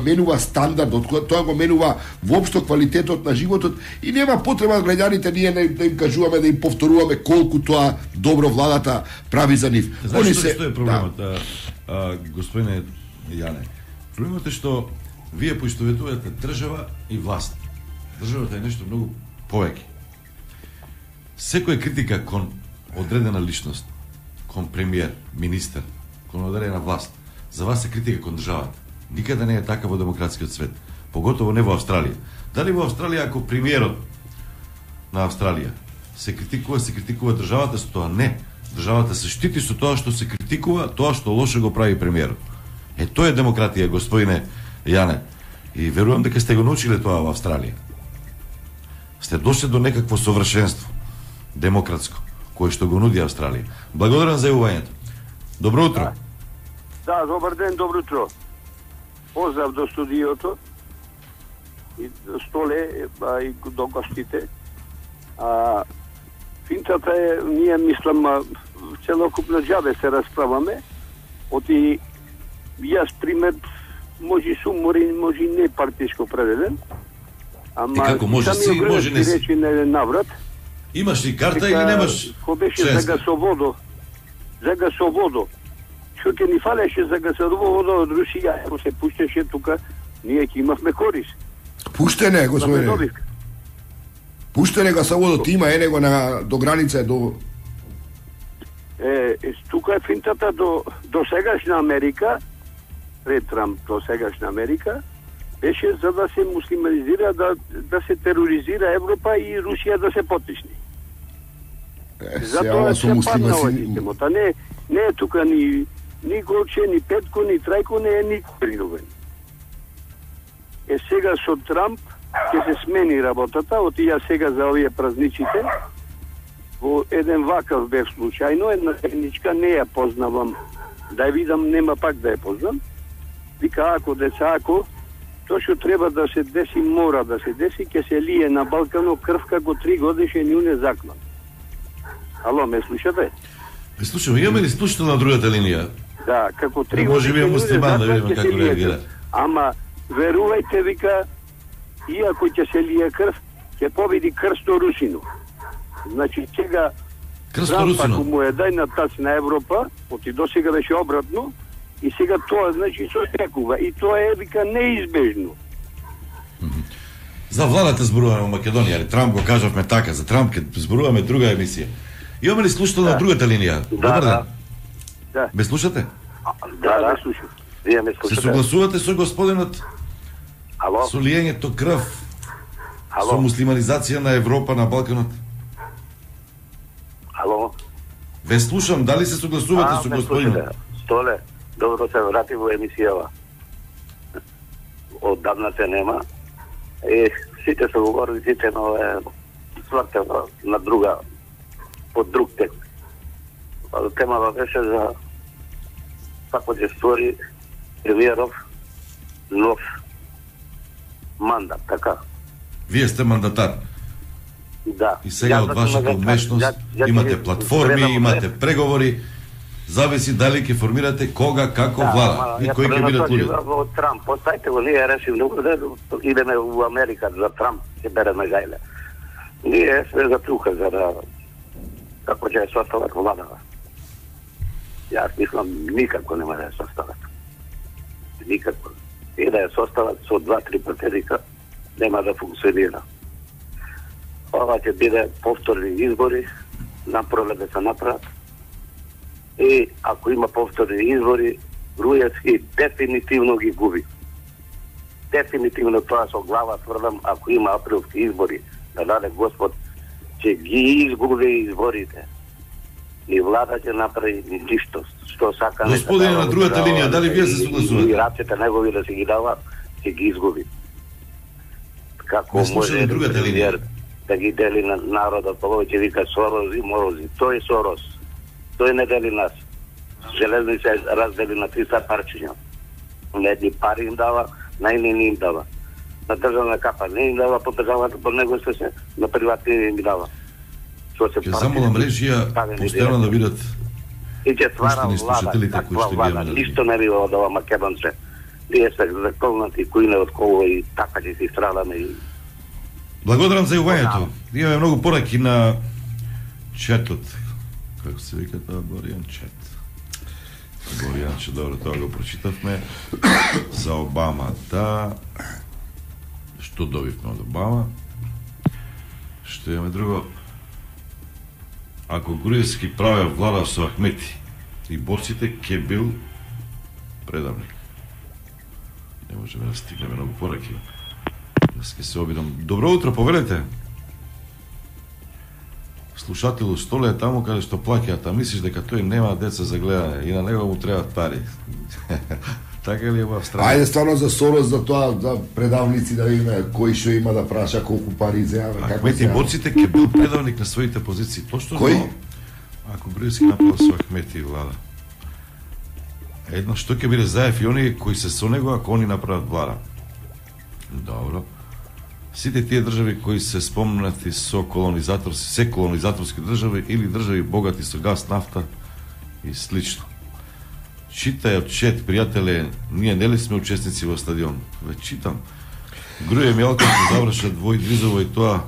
менува стандардот, тоа го менува воопшто квалитетот на животот и нема потреба граѓаните ние да им кажуваме, да им повторуваме колку тоа добро владата прави за нив.
Знаеш што е проблемот, господине Јане? Проблемот е што вие поистоветувате држава и власт. Државата е нешто многу повеќе. Секоја критика кон одредена личност, кон премиер, министер, кон одредена власт, за вас е критика кон државата. Никаде не е така во демократскиот свет, поготово не во Австралија. Дали во Австралија ако премиерот на Австралија се критикува државата со тоа? Не. Државата се штити со тоа што се критикува, тоа што лошо го прави премиерот. Тоа е демократија, господине Јане. И верувам дека сте го научиле тоа во Австралија. Сте дошли до некакво совршенство демократско, кое што го нуди Австралија. Благодарам за јавувањето. Добро утро.
Да, добар ден, добро утро. Поздрав до студиото и до Столе, и до гостите. Финтата е, ние мислам, целокупно џабе се расправаме. Оти јас пример може суморен, може не партиско определен. Ама
и како може си, може не си.
Речи на наврат.
Имаш ли карта или немаш?
Ко беше за гасоводо. Што ќе ни фалеше за гасоводо од Русија, ако се пуштеше тука, ние ќе имавме корис.
Пуштене, господине. Пуштене гасоводот има, него до граница до...
Тука е финтата до сегашна Америка, пред Трамп до сегашна Америка, беше за да се муслиманизира, да се тероризира Европа и Русија да се потисни. Затоа се падна овој системот. Не е тука ни Голче, ни Петко, ни Трајко, не е никој принуден. Сега со Трамп ќе се смени работата, отија сега за овие празничите, во еден вакав бев случајно, една техничка, не ја познавам, да ја видам, нема пак да ја познам, вика, ако, тоа што треба да се деси, мора да се деси, ќе се лие на Балкано крв како 3 годишен јуне заклан. Ало, ме слушате?
Ме слушам, имаме ли слушател на другата линија?
Да, како 3
може би е муслиман, да видиме како реагира.
Ама, верувајте, вика, иако ќе се лие крв, ќе победи крсто Русино. Значи, сега Трамп, ако му е дај на тац на Европа, оти до сега беше обратно, и сега тоа, значи, се очекува. И тоа е, вика, неизбежно.
За владата зборуваме во Македонија, али Трамп го кажавме така, за Трамп ќе зборуваме друга емисија. Имаме ли слушател на другата линија? Добар ден.
Да.
Ме слушате?
Да, слушам.
Вие ме слушате?
Се согласувате со господинот?
Ало?
Со лиењето крв? Со муслиманизација на Европа, на Балканот?
Ало?
Ве слушам, дали се согласувате со господинот?
Столе, добро се врати во емисијава. Оддавна се нема. Сите се говори, сите сварте на друга, под друг текст. Темава беше за како ќе створи премиеров нов мандат, така.
Вие сте мандатар.
Да.
И сега од вашата умешност имате платформи, имате преговори, зависи дали ќе формирате кога, како влада и кои ќе бидат луѓе.
Во Трамп, поставите го, ние решим да идеме во Америка за Трамп, ќе береме гајле. Ние сме за тука, за да како ќе состават влада. Јас мислам, никако нема да ја состават. Никако. И да ја состават со 2-3 претеника, нема да функционира. Ова ќе биде повторни избори, напролет да се направат. И ако има повторни избори, Груевски дефинитивно ги губи. дефинитивно тоа со глава тврдам, ако има априлски избори, да даде Господ, ќе ги изгуби изборите. Ни влада ќе направи ни ништо, што сака.
Господине на другата линија, дали вие се согласувате?
И рацете негови да се ги дава, ќе ги изгуби. Како може
другата линија
да ги дели на народот, повеќе вика Сорос и Морози. Тој е Сорос. Тој не дели нас. Железни се раздели на 300 парчиња. На едни пари им дава, на едни не им дава. На државна капа не им дава, по државата по него се на приватни не им дава.
Ќе замолам режија постојано да видат
и ќе ствара влада, таква влада. Ништо не бива од ова македонце. Ние се заколнати кои не од коло и така ќе си страдаме и...
Благодарам за јавањето. Имаме многу пораки на четот. Како се вика тоа Боријан чет? Боријан че добро, тоа го прочитавме. За Обама, да. Што добивме од Обама? Што имаме друго? Ако Груевски правил влада со Ахмети и борците, ке бил предавник. Не можеме да стигнеме многу пораки. Днес ке се обидам. Добро утро, повелете. Слушателу Столе е таму каде што плаќаат, а мислиш дека тој нема деца за гледане и на него му требаат пари. Така ли е во Австралија?
Ајде стварно за Сорос, за тоа, за предавници да видиме кој што има да праша, колку пари земе, како
Ахмети борците ке бил предавник на своите позиции. Точно
кој?
Ако Груевски направил со Ахмети влада. Едно што ќе биде Заев и оние кои се со него ако они направат влада. Добро. Сите тие држави кои се спомнати со колонизаторски, се колонизаторски држави или држави богати со газ, нафта и слично. Читај од чет, пријателе, ние нели сме учесници во стадион? Ве читам. Груе Мјалков ќе завршат двојдвизово и тоа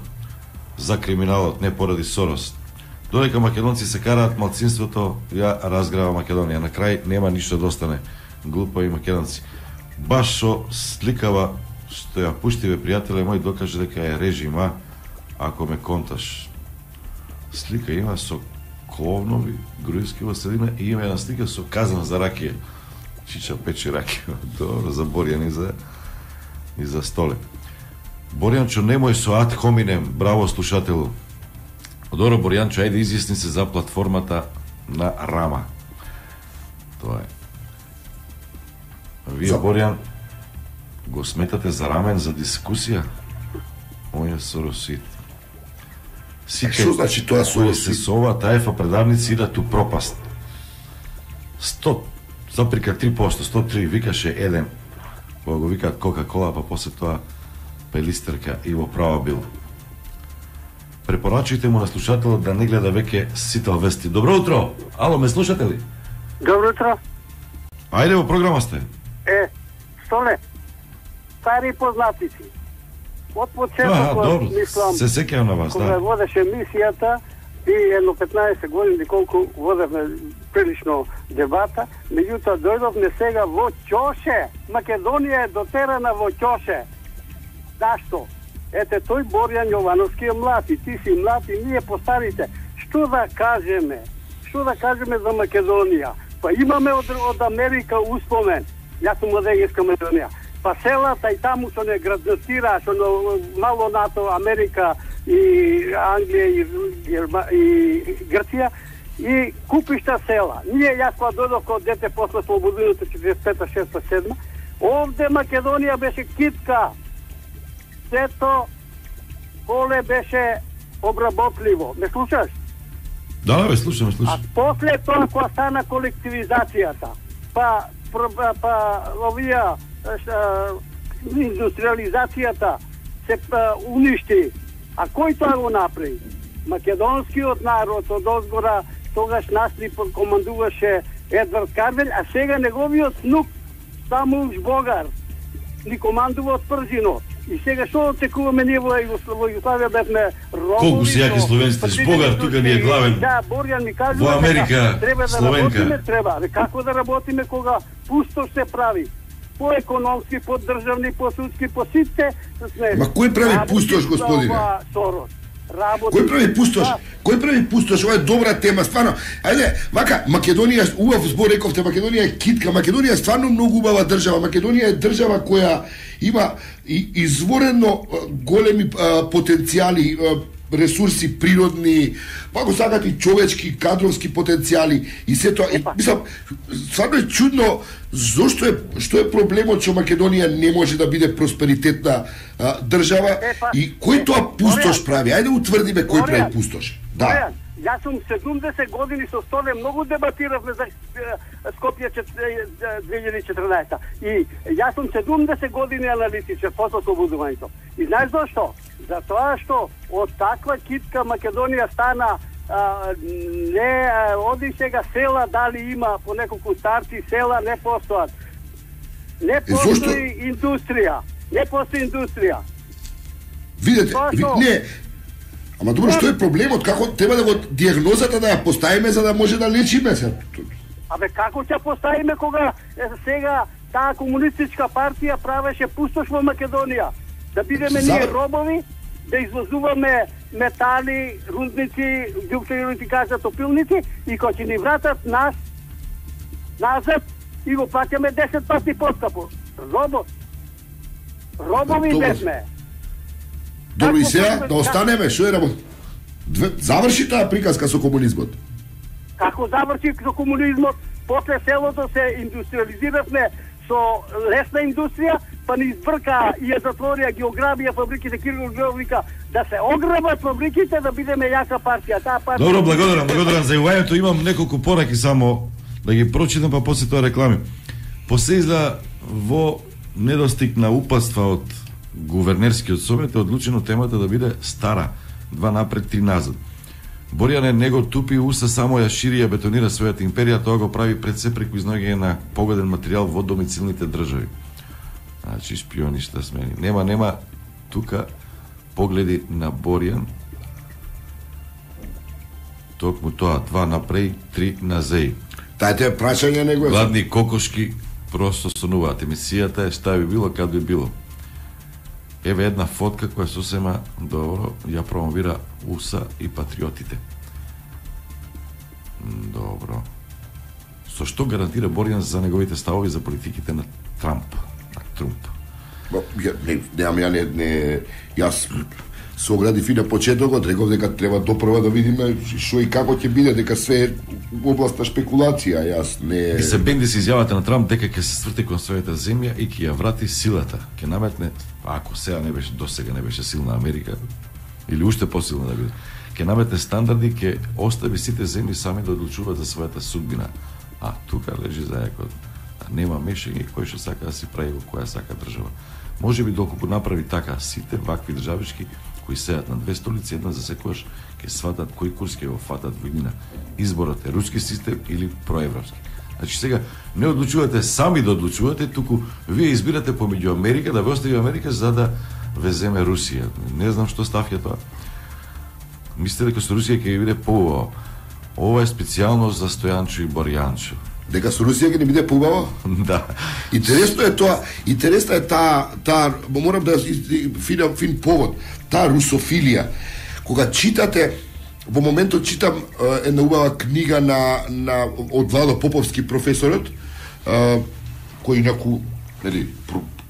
за криминалот, не поради Сорос. Додека македонци се караат, малцинството ја разграва Македонија. На крај нема ништо да остане. Глупави македонци. Баш со сликава што ја пушти, бе, пријателе мој, докаже дека е режима, ако ме конташ. Слика има со кловнови, Груевски во средина и има една слика со казан за ракија. Чича пече ракија. Добро, за Боријан и за Столе. Боријанчо, немој со ад хоминем, браво слушателу. Добро, Боријанчо, ајде изјасни се за платформата на Рама. Тоа е. Вие, Боријан, го сметате за рамен за дискусија? Моја Соросит.
Што значи тоа
Соросит? Се со ова таефа предавници идат у пропаст. 100, заприка 3%, 103 викаше еден. Кога го викаат Кока-Кола, па после тоа Пелистерка и во права бил. Препорачајте му на слушателот да не гледа веќе Сител вести. Добро утро! Ало, ме слушате ли?
Добро утро.
Ајде, во програма сте.
Столе, стари познатици. Од почетокот, мислам,
се сеќавам на вас,
кога водеше емисијата и едно 15 години колку водевме прилично дебата, меѓутоа дојдовме сега во ќоше. Македонија е дотерана во ќоше. Зашто? Ете, тој Боријан Јовановски е млад и ти си млад и ние постарите. Што да кажеме? Што да кажеме за Македонија? Па имаме од Америка успомен. Јас сум од Егејска Македонија. Па селата и таму што не граднатира, што мало НАТО, Америка и Англија и Грција и купишта села. Ние, јас кога додох од дете после слободиното 45-та, 6-та, 7-та, овде Македонија беше китка. Сето поле беше обработливо. Ме слушаш?
Да, бе, слушам.
А после тоа кога стана колективизацијата, па овија индустриализацијата се уништи. А кој тоа го направи? Македонскиот народ од озгора тогаш нас ни командуваше Едвард Карвел, а сега неговиот внук Самуш Богар ни командува од Пржино. И сега што очекуваме ние во Југославија бевме робови.
Колку си јаки словенците, Богар тука ни е главен.
Да, Боријан ми кажува
во Америка,
треба да
Словенка.
работиме, треба. Како да работиме кога пусто се прави? По економски, по државни, по судски, по сите сме.
Ма кој прави пустош, господине?
Сорос. работи.
Кој прави пустош? Кој прави пустош? Ова е добра тема, стварно. Ајде, вака, Македонија, убав збор рековте, Македонија е китка, Македонија е стварно многу убава држава. Македонија е држава која има изворено големи потенцијали, ресурси природни, па го сакат и човечки, кадровски потенцијали и се тоа. Мислам, стварно е чудно што е проблемот што Македонија не може да биде просперитетна држава и кој тоа пустош прави? Ајде утврдиме кој прави пустош. Да.
Јас сум 70 години со Столе, многу дебатиравме за Скопје 2014. И јас сум 70 години аналитичар после ослободувањето. И знаеш зашто? Затоа што од таква китка Македонија стана не оди сега села, дали има по неколку старци села, не постојат. Не постои индустрија. Не постои индустрија.
Видете, не. Ама добро, што е проблемот? Како треба да го диагнозата да ја поставиме за да може да лечиме се?
Абе како ќе поставиме кога сега таа комунистичка партија правеше пустош во Македонија? Да бидеме ние робови, да извозуваме метали, рудници, ѓуптејови кажа топилници и кога ќе ни вратат нас назад и го плаќаме 10 пати поскапо. Робови бевме.
Добро, и сега да останеме, што е работа? Заврши таа приказка со комунизмот.
Како заврши со комунизмот? После селото се индустриализиравме со лесна индустрија, па ни избрка и ја затворија географија фабриките, Кирил вика да се ограбат фабриките, да бидеме јака партија. Таа партија.
Добро, благодарам за јавањето. Имам неколку пораки само да ги прочитам, па после тоа реклами. Посеизда во недостиг на упатства од гувернерскиот совет е одлучено темата да биде стара, 2 напред, 3 назад. Борјане не го тупи уса, само ја шири, ја бетонира својата империја, тоа го прави пред се преку изноѓање на погоден материјал во домицилните држави. Значи, шпионишта смени. Нема тука погледи на Борјан. Токму тоа, 2 напред, 3 назај.
Тајте прашање него е.
Гладни кокошки просто сонуваат. Емисијата е шта би било, кад би било. Еве една фотка која сосема добро ја промовира УСА и патриотите. Добро. Со што гарантира Борјан за неговите ставови за политиките на Трамп, на Трумп?
Јас се оградив и на почетокот, реков дека треба допрва да видиме што и како ќе биде, дека све е област на шпекулација. Јас не...
се бенди се изјавата на Трамп дека ќе се сврти кон својата земја и ќе ја врати силата. Ќе наметне, ако сега не беше, досега не беше силна Америка, или уште посилна да биде, ќе наметне стандарди, ќе остави сите земји сами да одлучуваат за својата судбина. А тука лежи зајакот. Нема мешање кој што сака да си прави во која сака држава. Може би доколку направи така сите вакви државички кои сеат на 2 столици, една за секојаш ќе сватат кој курс ќе го фатат во иднина. Изборот е руски систем или проевропски. Значи сега не одлучувате сами да одлучувате, туку вие избирате помеѓу Америка, да ве остави Америка за да ве земе Русија. Не знам што ставија тоа. Мислите дека со Русија ќе биде поубаво. Ова е специјално за Стојанчо и Борјанчо.
Дека со Русија ќе не биде поубаво?
Да.
Интересно е тоа, интересна е таа, морам да фин повод, таа русофилија. Кога читате, во моментот читам една убава книга на од Владо Поповски, професорот, кој инаку, нели,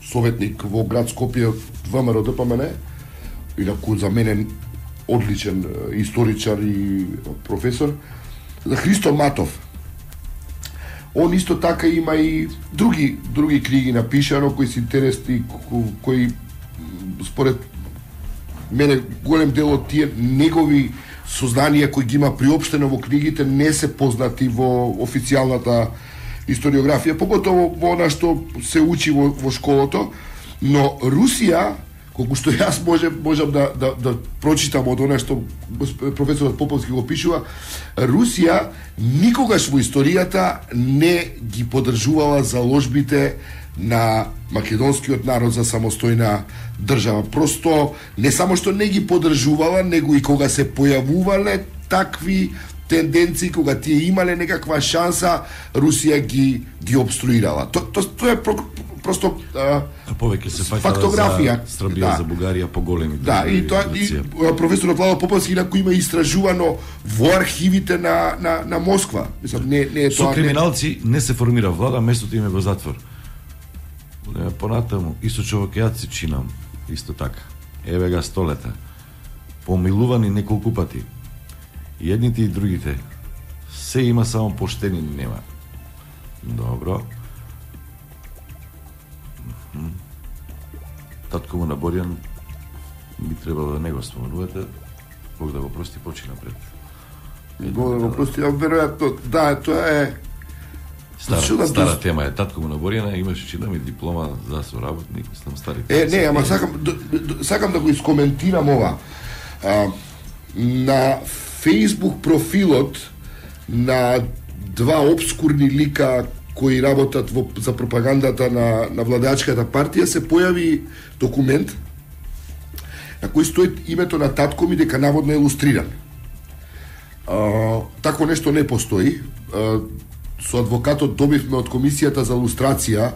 советник во град Скопје од ВМРО ДПМН, инаку за мене одличен историчар и професор, за Христо Матов. Он исто така има и други книги напишано кои се интересни, кои според мене голем дел од тие негови сознанија кои ги има приопштено во книгите не се познати во официјалната историографија, поготово во она што се учи во школото, но Русија, колку што јас можам да прочитам од она што професорот Поповски го пишува, Русија никогаш во историјата не ги поддржувала заложбите на македонскиот народ за самостојна држава. Просто не само што не ги поддржувала, него и кога се појавувале такви тенденции, кога тие имале некаква шанса, Русија ги обструирала. Тоа е просто
повеќе се
фактографија.
За Србија, за Бугарија поголеми.
Да, и тоа и професорот Владо Поповски инаку има истражувано во архивите на Москва. Мислам, не е
тоа. Со криминалци не се формира влада, местото им е во затвор. Понатаму, Исочовокејаци чинам, исто така. Еве га 100 лета. Помилувани неколку пати. И едните и другите. Се има, само поштени нема. Добро. Татко му на Борјан би требало да не го споменувате. Бог да го прости, почи напред.
Бог да го прости, веројатно, да, тоа е
Стара тема е. Татко му на Борјана имаше, читам, и диплома за соработник, сам стари.
Не, ама сакам да го искоментирам ова. На Facebook профилот на два обскурни лика кои работат за пропагандата на владеачката партија се појави документ на кој стои името на татко ми дека наводно е илустриран. Такво нешто не постои. Со адвокатот добивме од комисијата за илустрација,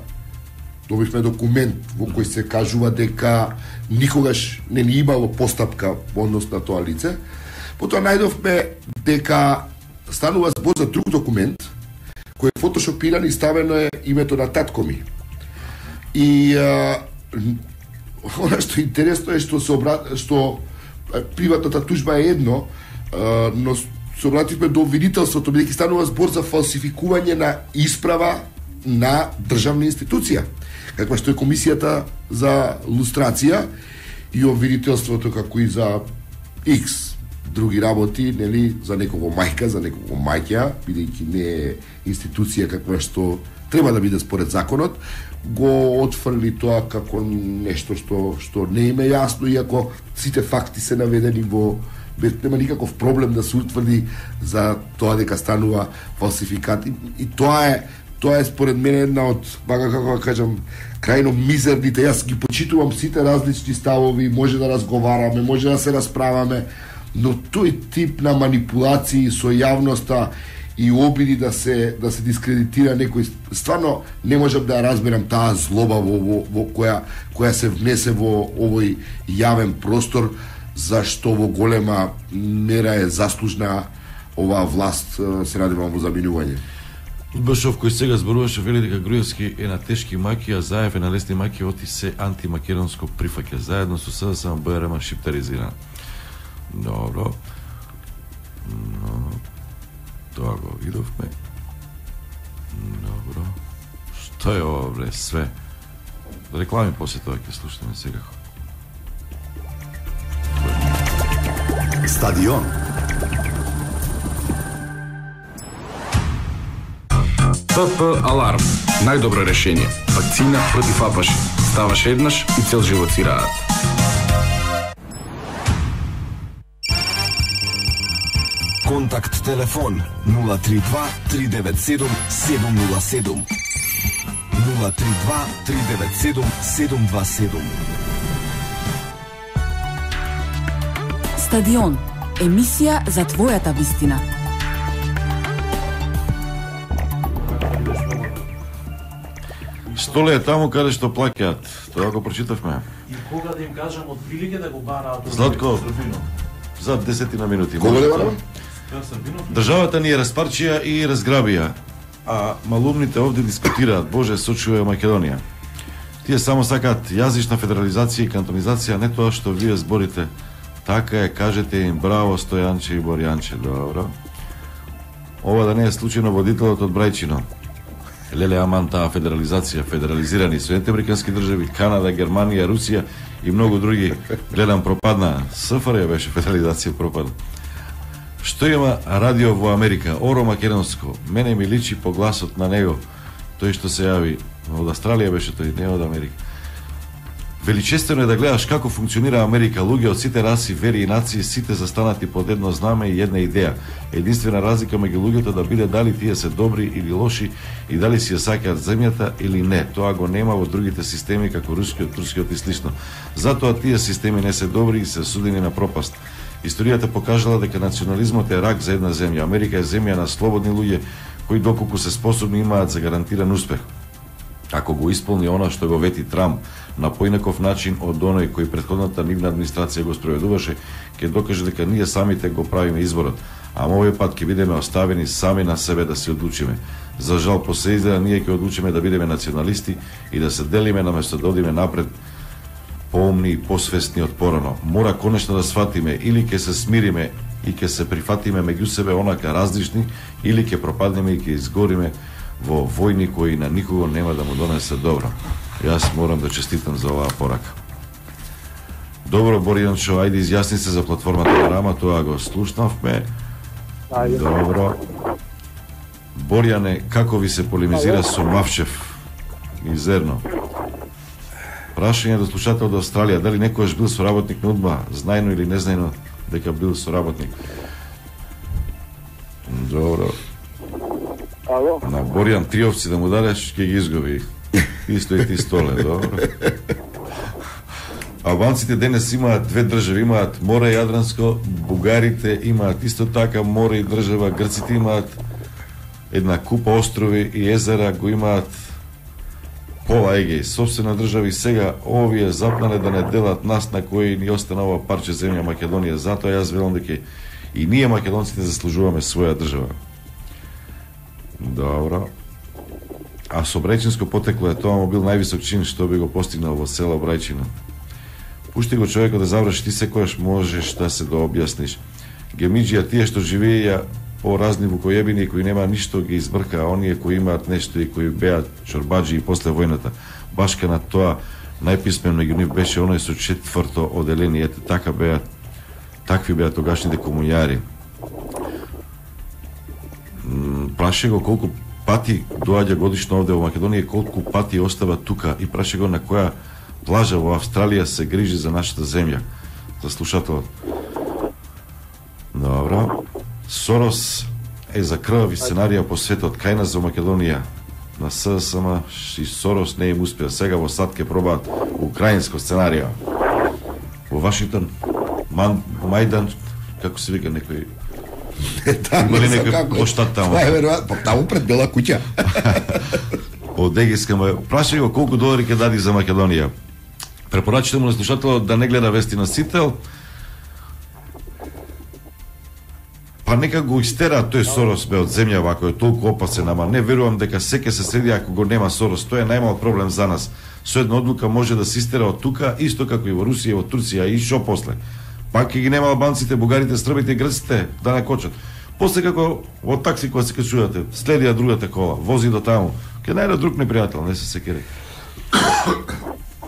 добивме документ во кој се кажува дека никогаш не ни имало постапка во однос на тоа лице. Потоа најдовме дека станува збор за друг документ кој е фотошопиран и ставено е името на татко ми. И она што интересно е што приватната тужба е едно, но се обративме до обвинителството, бидејќи станува збор за фалсификување на исправа на државна институција, каква што е комисијата за лустрација, и обвинителството како и за X други работи, нели, за некого мајка, за некого мајќа, бидејќи не е институција каква што треба да биде според законот, го отфрли тоа како нешто што не им е јасно, иако сите факти се наведени во нема никаков проблем да се утврди за тоа дека станува фалсификат. И тоа е според мене една од, како кажам, крајно мизерните. Јас ги почитувам сите различни ставови, може да разговараме, може да се расправаме, но тој тип на манипулации со јавноста и обиди да се дискредитира некој, стварно не можам да ја разберам таа злоба во која се внесе во овој јавен простор, зашто во голема мера е заслужна оваа власт, се надевам во заминување.
Башов кој сега зборуваше, вели дека Груевски е на тешки маки, а Заев е на лесни маки, оти се антимакедонско прифаќа, заедно со СДСМ БРМ шиптаризиран. Добро. Тоа го видовме. Добро. Што е ова, бре, све? Реклами после тоа ќе слушаме сега.
Стадион.
ПП Аларм. Најдобро решение. Вакцина против апаши. Ставаш еднаш и цел живот си раат.
Контакт телефон 032 397 707 032 397 727.
Стадион. Емисија за твојата вистина.
Столе е таму каде што плаќаат. Тоа го прочитавме.
И кога да им кажам од прилике да го бараат од
Златко, за 10 минути.
Кога да барам?
Државата ни е распарчија и разграбија, а малумните овде дискутираат, Боже, сочува Македонија. Тие само сакаат јазична федерализација и кантонизација, не тоа што вие зборите. Така е, кажете им браво Стојанче и Борјанче, добро. Ова да не е случајно водителот од Брајчино. Леле аман таа федерализација, федерализирани Соединените американски држави, Канада, Германија, Русија и многу други, гледам пропадна. СФР беше федерализација, пропадна. Што има радио во Америка? Оро македонско. Мене ми личи по гласот на него. Тој што се јави од Австралија беше тој, не од Америка. Величествено е да гледаш како функционира Америка. Луѓе од сите раси, вери и нации, сите застанати под едно знаме и една идеја. Единствена разлика меѓу луѓето да биде дали тие се добри или лоши и дали си ја сакаат земјата или не. Тоа го нема во другите системи како рускиот, турскиот и слично. Затоа тие системи не се добри и се судени на пропаст. Историјата покажала дека национализмот е рак за една земја. Америка е земја на слободни луѓе кои доколку се способни имаат за гарантиран успех. Ако го исполни она што го вети Трамп на поинаков начин од оној кој претходната нивна администрација го спроведуваше, ќе докаже дека ние самите го правиме изборот, а овој пат ќе бидеме оставени сами на себе да се одлучиме. За жал последеја ние ќе одлучиме да бидеме националисти и да се делиме наместо да одиме напред поумни и посвесни од порано. Мора конечно да сватиме или ќе се смириме и ќе се прифатиме меѓу себе онака различни, или ќе пропаднеме и ќе изгориме во војни кои на никого нема да му донесе добро. Јас морам да честитам за оваа порака. Добро, Боријанчо, ајде изјасни се за платформата на Рама, тоа го слушнавме. Добро. Боријане, како ви се полемизира со Мавчев? Мизерно. Прашање до слушател од Австралија, дали некојаш бил соработник на УДБА, знајно или незнајно дека бил соработник? Добро.
Ало?
На Боријан Триовци да му дадеш, ќе ги изгуби. Исто и ти столе, добро. Албанците денес имаат две држави, имаат море Јадранско, бугарите имаат исто така море и држава, грците имаат една купа острови и езера, го имаат пола Егеј, собствена држава, и сега овие запнале да не делат нас на кои ни остана ова парче земја Македонија. Затоа јас велам дека и ние македонците заслужуваме своја држава. Добро. А со Брајчинско потекло е, тоа му бил највисок чин што би го постигнал во село Брајчино. Пушти го човекот да заврши, ти секојаш можеш да се дообјасниш. Гемиџија, тие што живееја по разни вукојебини кои нема ништо ги избрка, а оние кои имаат нешто и кои беат чорбаџи и после војната. Башка на тоа најписмен меѓу нив беше оној со 4-то оделение. Ете така беа, такви беа тогашните комуњари. Праше го колку пати доаѓа годишно овде во Македонија, колку пати остава тука, и праше го на која плажа во Австралија се грижи за нашата земја. За слушателот. Добро. Сорос е за крвави сценарија по светот, кај нас за Македонија. На ССМ и Сорос не им успеа. Сега во САД ке пробаат украинско сценарио. Во Вашингтон, Мајдан, како се вика некој... Има ли некој поштат таму?
Това е веројатно, таму пред Бела куќа.
Од Егејска му прашај го колку долари ќе дади за Македонија. Препорачите му на слушателот да не гледа вести на Сител, па нека го истераат тој Сорос бе од земја вако е толку опасен, ама не верувам дека секе се среди ако го нема Сорос. Тоа е најмал проблем за нас. Со една одлука може да се истера од тука, исто како и во Русија, во Турција, и шо после. Пак ќе ги нема албанците, бугарите, србите и грците да накочат. После како во такси кога се качувате, следија другата кола, вози до таму, ќе најде друг непријател, не се секери.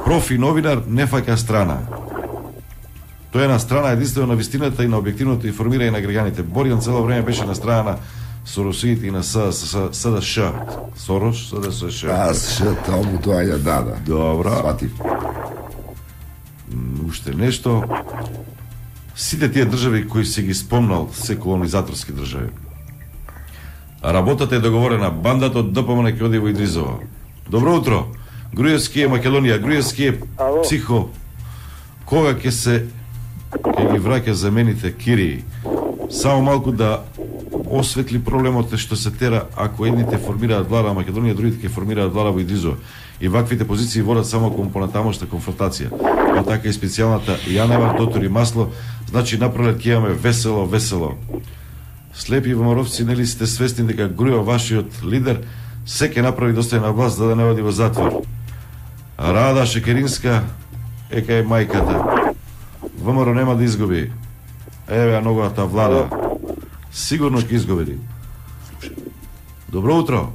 Профи новинар не фаќа страна. Тој е на страна единствено на вистината и на објективното информирање на граѓаните. Боријан цело време беше на страна на Соросиите и на СДШ. Сорош, СДШ.
СДШ, таму тоа ја дада.
Добро.
Сватив.
Уште нешто. Сите тие држави кои се ги спомнал, се колонизаторски држави. Работата е договорена. Бандата од ДПМН ќе оди во Идризово. Добро утро. Груевски е Македонија, Груевски е психо. Кога ќе ги враќа замените Кирии? Само малку да осветли проблемот што се тера ако едните формираат влада во Македонија, другите ќе формираат влада во Идризово. И ваквите позиции водат само кон понатамошна конфронтација. Па така и специјалната Јанева, Дотор и Масло, значи напролет ќе имаме весело, весело. Слепи ВМРО-вци, нели сте свесни дека Груева, вашиот лидер, се ќе направи да остане на власт за да не оди во затвор. Рада Шекеринска е кај мајката. ВМРО нема да изгуби. Еве ја новата влада. Сигурно ќе изгуби. Добро утро.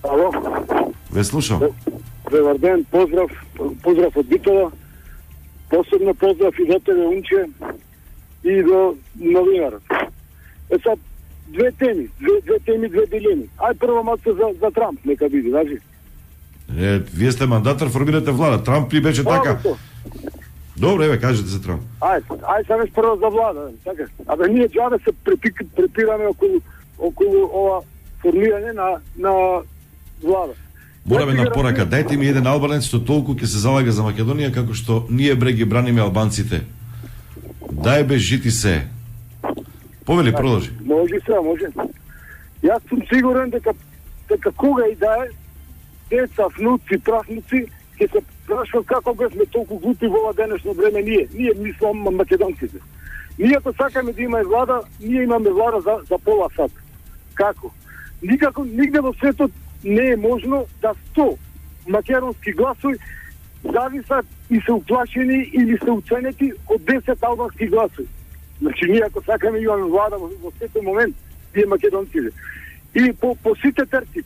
Ало.
Ве слушам.
Добар ден, поздрав од Битола. Посебно поздрав и до тебе, Унче, и до новинарот. Сад, две теми, две дилеми. Ај прво малце за Трамп, нека биде, значи.
Вие сте мандатар, формирате влада. Трамп ли беше така? Добро, еве, кажете за Трамп.
Ај сега прво за влада, така. Абе, ние џабе се препираме околу ова формирање на влада.
Мораме на порака, дајте ми еден албанец што толку ќе се залага за Македонија како што ние бре ги браниме албанците. Дај бе жити се. Повели, продолжи.
Може се, може. Јас сум сигурен дека кога и да е, деца, внуци, правнуци, ќе се прашуват како бевме толку глупи во ова денешно време ние мислам македонците. Ние ако сакаме да имаме влада, ние имаме влада за пола сат. Како? Никако, нигде во светот не е можно да 100 македонски гласови зависат и се уплашени или се уценети од 10 албански гласови. Значи, ние ако сакаме имаме влада во светот момент, тие македонците. И по сите терци.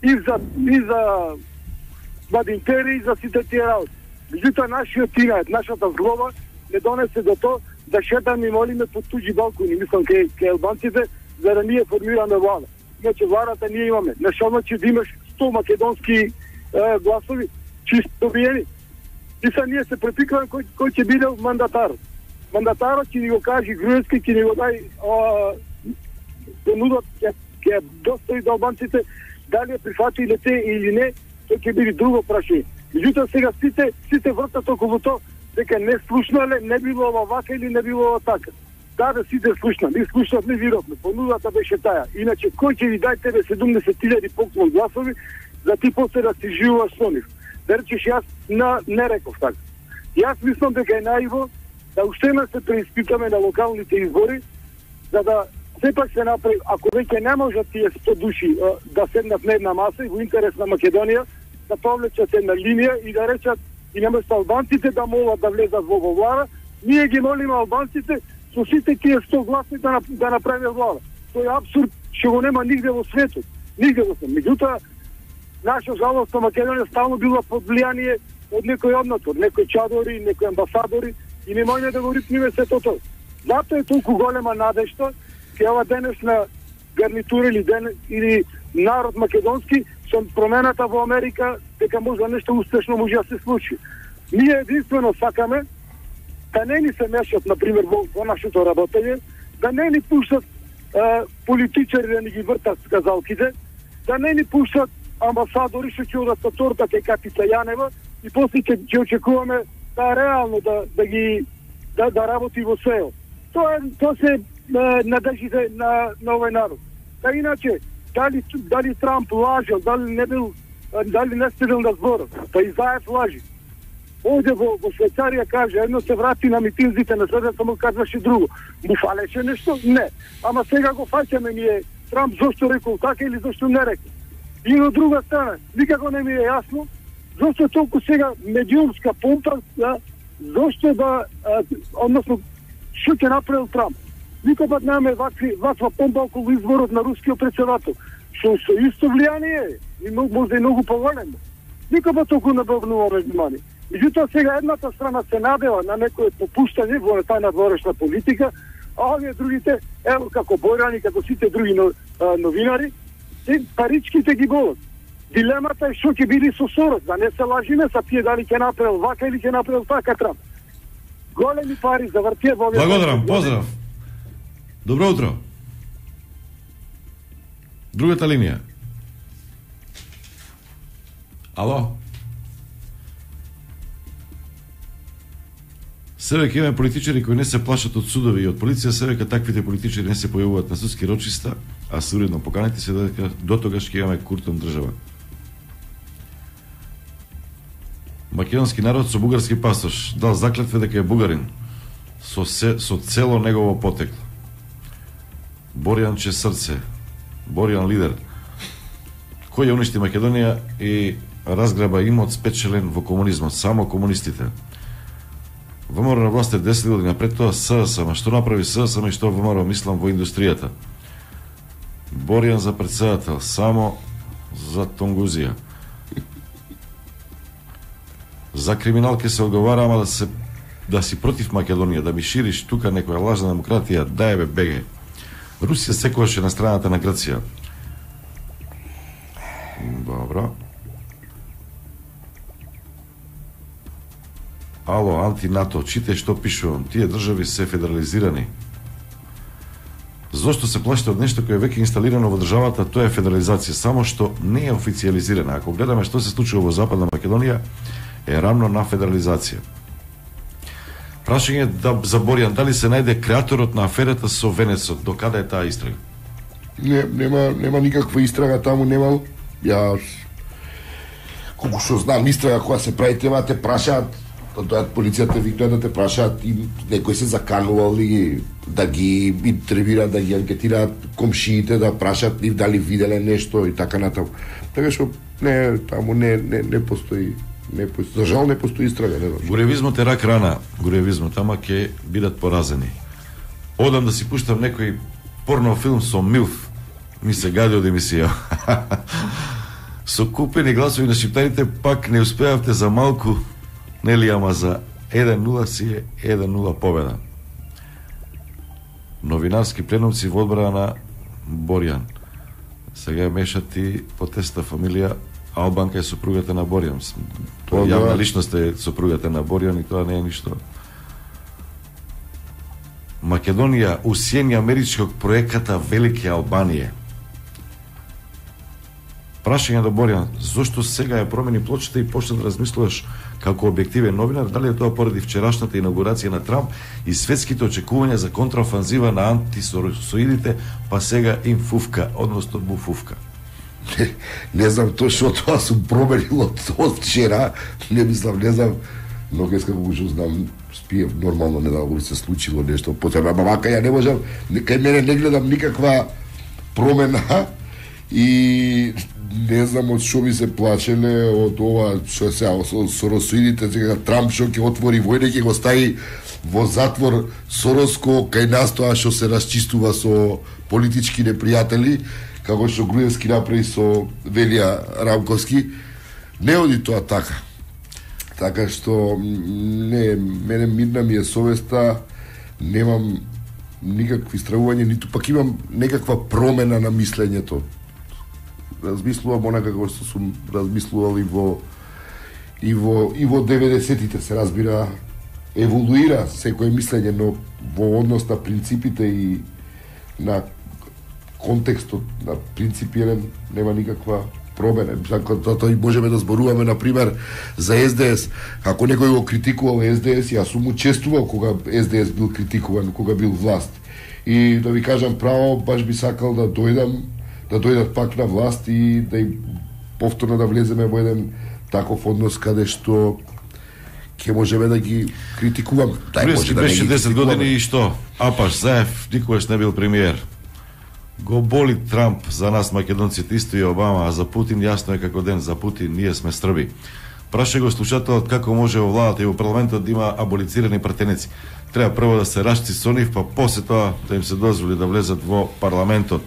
И за Бадинтери, и за сите тие работи. Меѓутоа, нашиот тинајот, нашата злоба не донесе до тоа да шетаме и молиме по туѓи балкони, мислам, кај албанците, за да ние формираме влада. Иначе владата ние имаме. Нешто значи да имаш 100 македонски гласови, чисто добиени. И са ние се препикваме кој ќе биде мандатарот. Мандатарот ќе ни го каже Груевски, ќе ни го дај понудот, ќе достави до албанците, дали е прифатиле те или не, тоа ќе биде друго прашање. Меѓутоа сега сите вртат околу тоа дека не слушнале, не било ова вака или не било ова така. Да, сите слушна. Ние слушнавме, видовме. Понудата беше таа. Иначе кој ќе ви дај тебе 70.000 поклон гласови за ти после да си живуваш со нив? Да речеш, јас не реков така. Јас мислам дека е наиво да уште се преиспитаме на локалните избори, за да сепак се направи, ако веќе не можат тие 100 души да седнат на една маса и во интерес на Македонија, да повлечат една линија и да речат и наместо албанците да молат да влезат во влада, ние ги молиме албанците со сите тие 100 гласни да направи влада. Тој е абсурд, што го нема нигде во светот. Нигде во светот. Меѓутоа, наша жалост на Македонија стално била под влијание од некој однатор, некој чадори, некој амбасадори и немојме да го рипниме сето тоа. Затоа е толку голема надежда кај ова денешна гарнитура или народ македонски со промената во Америка, дека може нешто успешно може да се случи. Ние единствено сакаме да не ни се мешат, например, во нашето работење, да не ни пуштат политичари да ни ги вртат сказалките, да не ни пуштат амбасадори што ќе одат на торта кај Катица Јанева и после ќе очекуваме да реално да работи во СЕО. Тоа се надеждите на овој народ. Да иначе, дали Трамп лажал, дали не стигнал на зборот, па и Заев лажи. Овде во Швајцарија каже, едно се врати на митинзите, на следната му казваше друго. Му фалеше нешто? Не. Ама сега го фаќаме ние, Трамп зошто рекол така или зошто не рекол. И на друга страна, никако не ми е јасно, зошто толку сега медиумска помпа, зошто односно, што ќе направил Трамп. Никој пат немаме ваква помпа околу изборот на рускиот председател. Што со исто влијание и може и многу поголемо. Никој пат толку не обрнуваме внимание. Меѓутоа сега едната страна се надева на некој попуштање во таа надворешна политика, а овие другите, ево како Бојрани, како сите други новинари, паричките ги болат. Дилемата е што ќе биде со Сорос, да не се лажиме са тие дали ќе направил вака или ќе направил така Трамп. Големи пари за вртие во овие.
Благодарам, поздрав. Добро утро. Другата линија. Ало? Се веќе имаме политичари кои не се плашат од судови и од полиција, се веќе таквите политичари не се појавуваат на судски рочиста, а се уредно поканети се дека до тогаш ќе имаме куртон држава. Македонски народ со бугарски пасош дал заклетва дека е бугарин со цело негово потекло. Борјанче срце, Борјан лидер, кој ја уништи Македонија и разграба имот спечелен во комунизмот, само комунистите. ВМРО на власт е 10 година пред тоа ССМ, што направи ССМ и што ВМРО, мислам, во индустријата. Борјан за председател, само за Тонгузија. За криминал ке се одговара, ама да си против Македонија, да ми шириш тука некоја лажна демократија, дај бе беге. Русија секогаш е на страната на Грција. Добро. Ало, анти-НАТО, чите што пишувам, тие држави се федерализирани. Зошто се плашите од нешто кое е веќе инсталирано во државата, тоа е федерализација, само што не е официализирана. Ако гледаме што се случува во Западна Македонија, е рамно на федерализација. Прашање за Борјан, дали се најде креаторот на аферата со Венецот? До каде е таа истрага?
Нема никаква истрага таму, немал. Ја колку што знам, истрага која се прави, треба да те прашаат, да дојат полицијата, викнат да те прашаат и некој се заканували да ги интервјуираат, да ги анкетираат комшиите, да прашаат нив дали виделе нешто и така натаму. Така што таму не постои. За жал не постои истрага, не знам.
Гуревизмот е рак рана, гуревизмот, ама ќе бидат поразени. Одам да си пуштам некој порно филм со Милф. Ми се гади од емисија. Со купени гласови на шиптарите пак не успеавте за малку, нели, ама за 1-0 си е 1-0 победа. Новинарски пленумци во одбрана на Борјан. Сега мешат и потеста фамилија Албанка е сопругата на Борјан. Тоа јавна личност е сопругата на Борјан и тоа не е ништо. Македонија усиени америчкog проеката Велики Албанија. Прашање до Борјан, зошто сега ја промени плочата и почна да размислуваш како објективен новинар, дали е тоа поради вчерашната инаугурација на Трамп и светските очекувања за контраофанзива на антисоросоидите, па сега им фуфка, односно буфуфка?
Не знам точно тоа сум променил од вчера, не знам, но днеска како што знам, спиев нормално, не дали се случило нешто потреба, вака ја не можам, кај мене не гледам никаква промена и не знам од што ми се плачеле, од ова што се со соросоидите, сега Трамп што ќе отвори војна, ќе го стави во затвор Сороско кај нас тоа што се расчистува со политички непријатели, како што Груевски направи со Велија Рамковски. Не оди тоа така. Така што мене мирна ми е совеста, немам никакви стравувања, ниту пак имам некаква промена на мислењето. Размислувам онака како што сум размислувал и во 90-тите, се разбира, еволуира секој мислење, но во однос на принципите и на контекстот на принципиран нема никаква промена. Затоа и можеме да зборуваме, например, за СДС. Ако некој го критикувал СДС, јас сум учествувал кога СДС бил критикуван, кога бил власт. И да ви кажам право, баш би сакал да дојдат пак на власт и да им повторно да влеземе во еден таков однос каде што ќе можеме да ги критикуваме.
Груевски беше 10 години и што? Апаш Заев никогаш не бил премиер. Го боли Трамп за нас македонците, исто и Обама, а за Путин јасно е како ден, за Путин ние сме Срби. Праша го слушателот како може во владата и во парламентот да има аболицирани пратеници. Треба прво да се рашци со нив, па после тоа да им се дозволи да влезат во парламентот.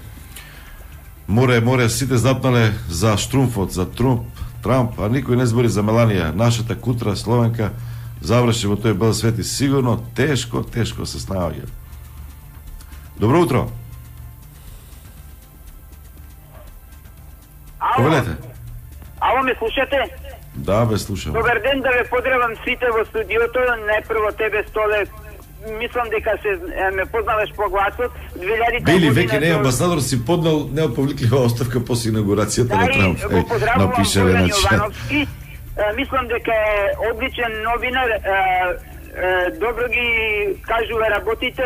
Море, сите запнале за Штрумфот, за Трамп, а никој не збори за Меланија. Нашата кутра Словенка заврши во тој бел свет и сигурно тешко се снаоѓа. Добро утро. Повелете.
Ало, ме слушате?
Да, бе, слушам.
Добар ден, да ве поздравам сите во студиото, најпрво тебе, Столе, мислам дека ме познаваш по гласот.
Били, веќе не амбасадор, си поднал неотповликлива оставка после инаугурацијата на Трамп.
Да, и го поздравувам Бојан Јовановски. Мислам дека е одличен новинар, добро ги кажува работите,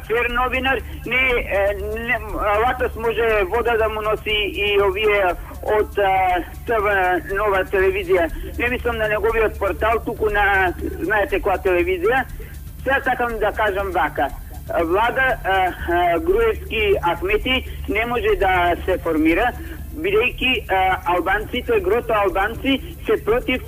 фер новинар, латос може вода да му носи и овие од ТВ Нова телевизија. Не мислам на неговиот портал, туку на, знаете која телевизија. Сега сакам да кажам вака. Влада Груевски Ахмети не може да се формира, бидејќи албанците, грото албанци се против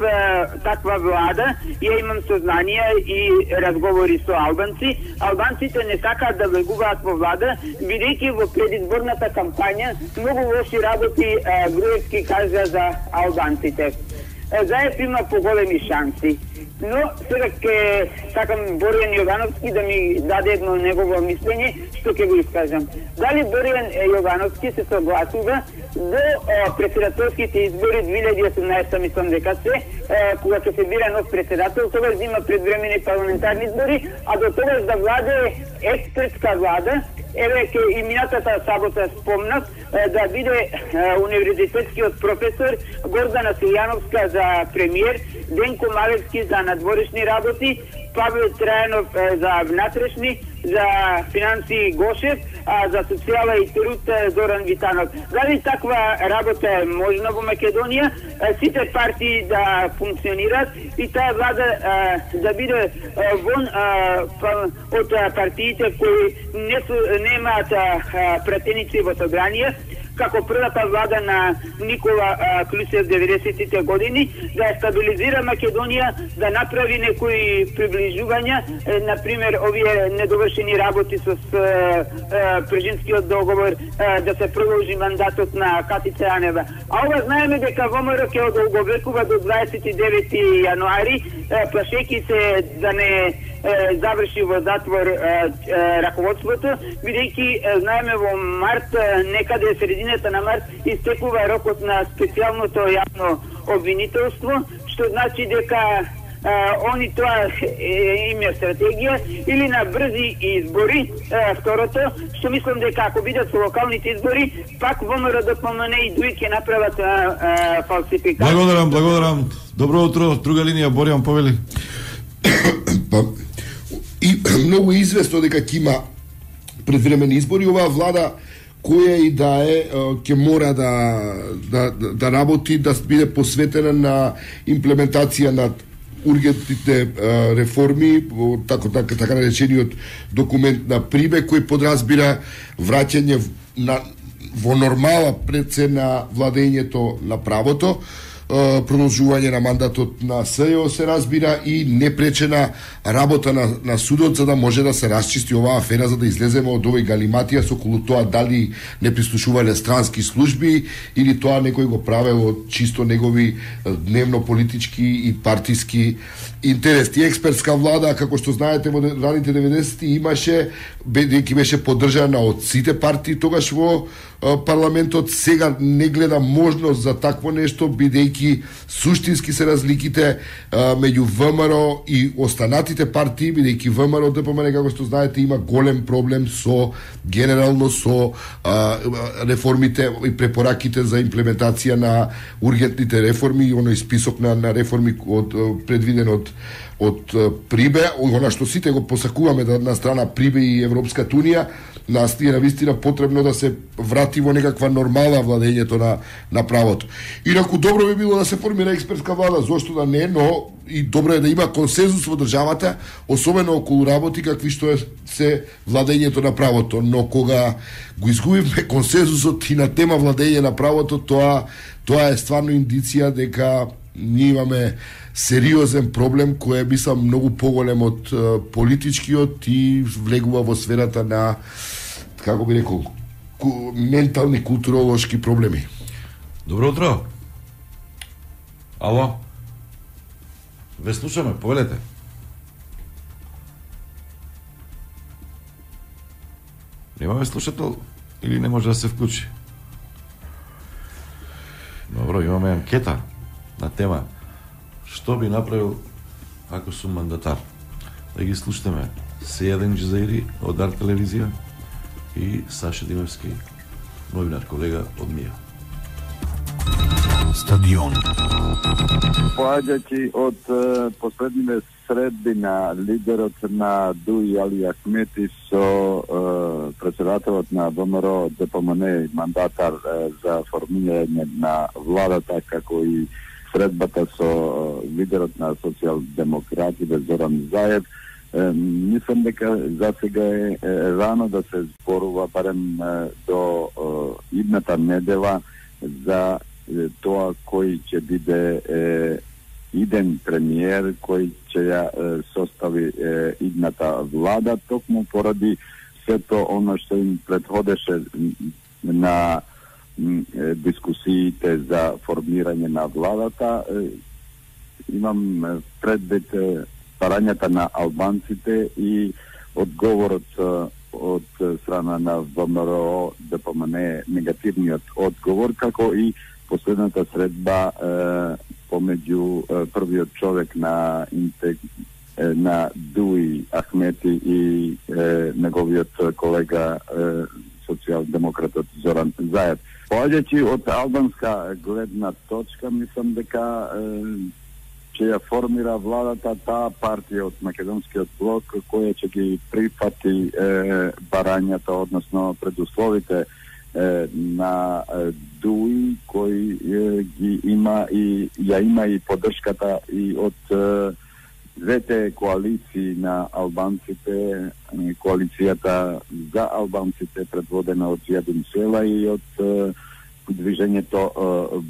таква влада. Ја имам сознание и разговори со албанци. Албанците не сакаат да влегуваат во влада, бидејќи во предизборната кампања многу лоши работи Груевски кажа за албанците. Заев има поголеми шанси. Но сега ќе сакам Борјан Јовановски да ми даде едно негово мислење, што ќе го искажам. Дали Борјан Јовановски се согласува до председателските избори 2018, мислам дека се, кога ќе се бира нов председател, тогаш да има предвремени парламентарни избори, а до тогаш да владе експертска влада. Еве ке и минатата сабота спомнав да биде универзитетскиот професор Гордана Силјановска за премиер, Денко Малевски за надворешни работи Павел Трајанов за внатрешни, за финансии Гошев, а за социјала и труд Зоран Витанов. Дали таква работа е можна во Македонија? Сите партии да функционираат и таа влада да биде вон од партиите кои немаат пратеници во собрание, како првата влада на Никола Клисев 90-тите години, да ја стабилизира Македонија, да направи некои приближувања, например, овие недовршени работи со Прежинскиот договор, да се продолжи мандатот на Катица Јанева. А ова знаеме дека ВМРО ќе одолговекува до 29 јануари, плашејќи се да не заврши во затвор раководството, бидејќи знаеме во март, некаде средината на март, истекува рокот на специјалното јавно обвинителство, што значи дека они тоа им е стратегија или на брзи избори, второто, што мислам дека ако бидат со локалните избори, пак ВМРО ДПМН и ДУИ ќе направат фалсификација.
Благодарам. Добро утро, друга линија, Боријан повели.
И многу известно дека ќе има предвремени избори. Оваа влада, која и да е, ќе мора да работи, да биде посветена на имплементација на ургентните реформи, така наречениот документ на Прибе, кој подразбира враќање во нормала пред се на владењето на правото, продолжување на мандатот на СЈО се разбира и непречена работа на судот за да може да се расчисти оваа афера, за да излеземе од овој галиматија со околу тоа дали не прислушувале странски служби или тоа некој го правел од чисто негови дневно политички и партиски интереси. Експертска влада, како што знаете, во раните 90-ти имаше, бидејќи беше поддржана од сите партии тогаш во парламентот, сега не гледа можност за такво нешто, бидејќи суштински се разликите меѓу ВМРО и останатите партии, бидејќи ВМРО ДПМН, како што знаете, има голем проблем со генерално со реформите и препораките за имплементација на ургентните реформи, оној список на реформи предвиден од Прибе, она што сите го посакуваме на страна Прибе и Европската унија, нас е навистина потребно да се врати во некаква нормала владењето на правото. Инаку добро би било да се формира експертска влада, зошто да не, но и добро е да има консензус во државата, особено околу работи какви што се владењето на правото, но кога го изгубиме консензусот и на тема владење на правото, тоа е стварно индиција дека ние имаме сериозен проблем кој е мислам многу поголем од политичкиот и влегува во сферата на, како би рекол, ментални културолошки проблеми.
Добро утро. Ало. Ве слушаме, повелете. Немаме слушател или не може да се вклучи? Добро, имаме анкета на тема што би направил ако сум мандатар. Да ги слушаме Сејаден Джезаири од Арт телевизија и Саша Димевски, новинар, колега од МИА.
Стадион.
Поаѓајќи од последните средби на лидерот на ДУИ Али Ахмети со председателот на ВМРО ДПМН мандатар за формирање на владата, како и средбата со лидерот на социјалдемократите Зоран Заев, мислам дека за сега е рано да се зборува барем до идната недела за тоа кој ќе биде иден премиер, кој ќе ја состави идната влада, токму поради сето оно што им предходеше на дискусиите за формирање на владата. Имам предвид парањата на албанците и одговорот од страна на ВМРО ДПМН, негативниот одговор, како и последната средба помеѓу првиот човек на ДУИ Ахмети и неговиот колега социјалдемократот Зоран Заев. Поаѓајќи од албанска гледна точка, мислам дека ќе ја формира владата таа партија од македонскиот блок која ќе ги прифати барањата, односно предусловите на ДУИ кој ги има и ја има и поддршката и од двете коалиции на албанците, коалицијата за албанците предводена од Јадин Села и од движењето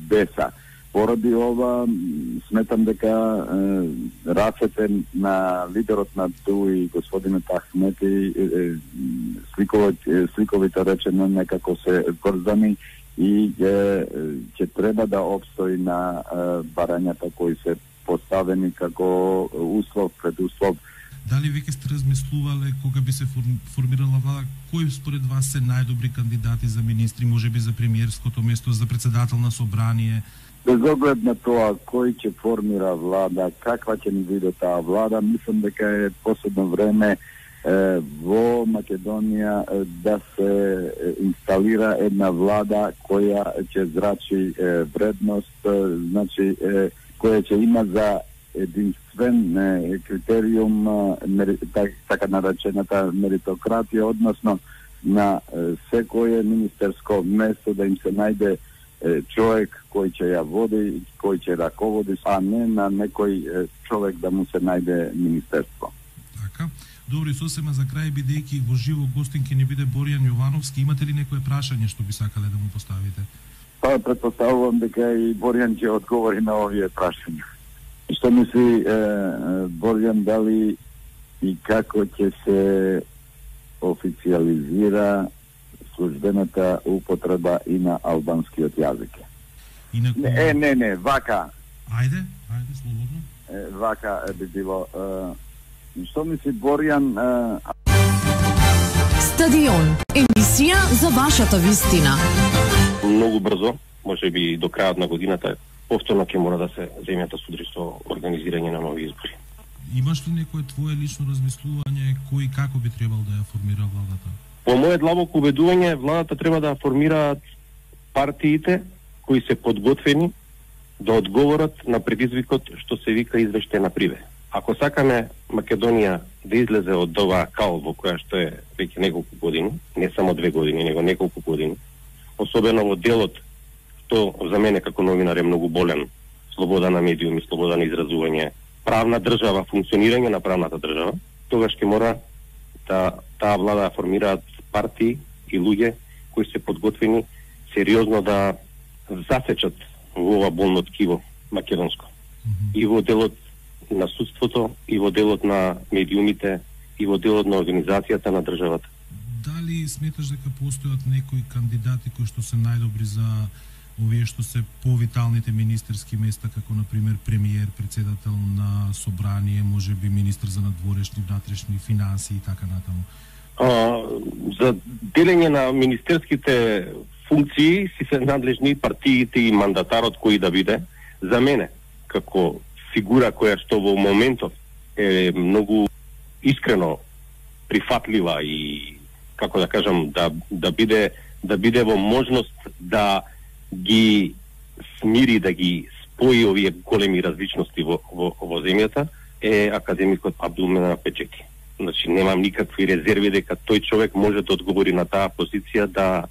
БЕСА. Поради ова, сметам дека рацете на лидерот на ДУИ, господинот Ахмети, сликовите речено некако се врзани и ќе треба да обстои на барањата кои се поставени како услов, предуслов.
Дали веќе сте размислувале кога би се формирала влада, кои според вас се најдобри кандидати за министри, можеби за премиерското место, за председател на собрание?
Без оглед на тоа кој ќе формира влада, каква ќе ни биде таа влада, мислам дека е последно време во Македонија да се инсталира една влада која ќе зрачи вредност, значи која ќе има за единствен критериум така наречената меритократија, односно на секое министерско место да им се најде човек кој ќе ја води, кој ќе раководи, а не на некој човек да му се најде министерство.
Така. Добро, сосема за крај, бидејќи во живо гостин ќе ни биде Боријан Јовановски, имате ли некое прашање што би сакале да му поставите?
Па, предпоставувам дека и Боријан ќе одговори на овие прашања. Што мисли Боријан, дали и како ќе се официализира службената употреба и на албанскиот јазик? Не, вака.
Ајде, слободно.
Вака би било. Што мисли Боријан?
Стадион, емисија за вашата вистина.
Многу брзо, можеби до крајот на годината, повторно ќе мора да се земјата судри со организирање на нови избори.
Имаш ли некое твое лично размислување кој и како би требал да ја формира владата?
По моје длабоко убедување, владата треба да формираат партиите кои се подготвени да одговорат на предизвикот што се вика извештај на Приве. Ако сакаме Македонија да излезе од оваа кал во која што е веќе неколку години, не само 2 години, него неколку години, особено во делот што за мене како новинар е многу болен, слобода на медиуми, слобода на изразување, правна држава, функционирање на правната држава, тогаш ќе мора да таа влада да формираат партии и луѓе кои се подготвени сериозно да засечат во ова болно ткиво македонско. И во делот на судството, и во делот на медиумите, и во делот на организацијата на државата.
Дали сметаш дека постојат некои кандидати кои што се најдобри за овие што се повиталните министерски места, како например премиер, председател на собрание, можеби министр за надворешни, внатрешни финансии и така натаму?
За делење на министерските функции си се надлежни партиите и мандатарот кој да биде. За мене, како фигура која што во моментот е многу искрено прифатлива и, како да кажам, да биде во можност да ги смири, да ги спои овие големи различности во земјата, е академикот Абдулмена Печети. Значи, немам никакви резерви дека тој човек може да одговори на таа позиција, да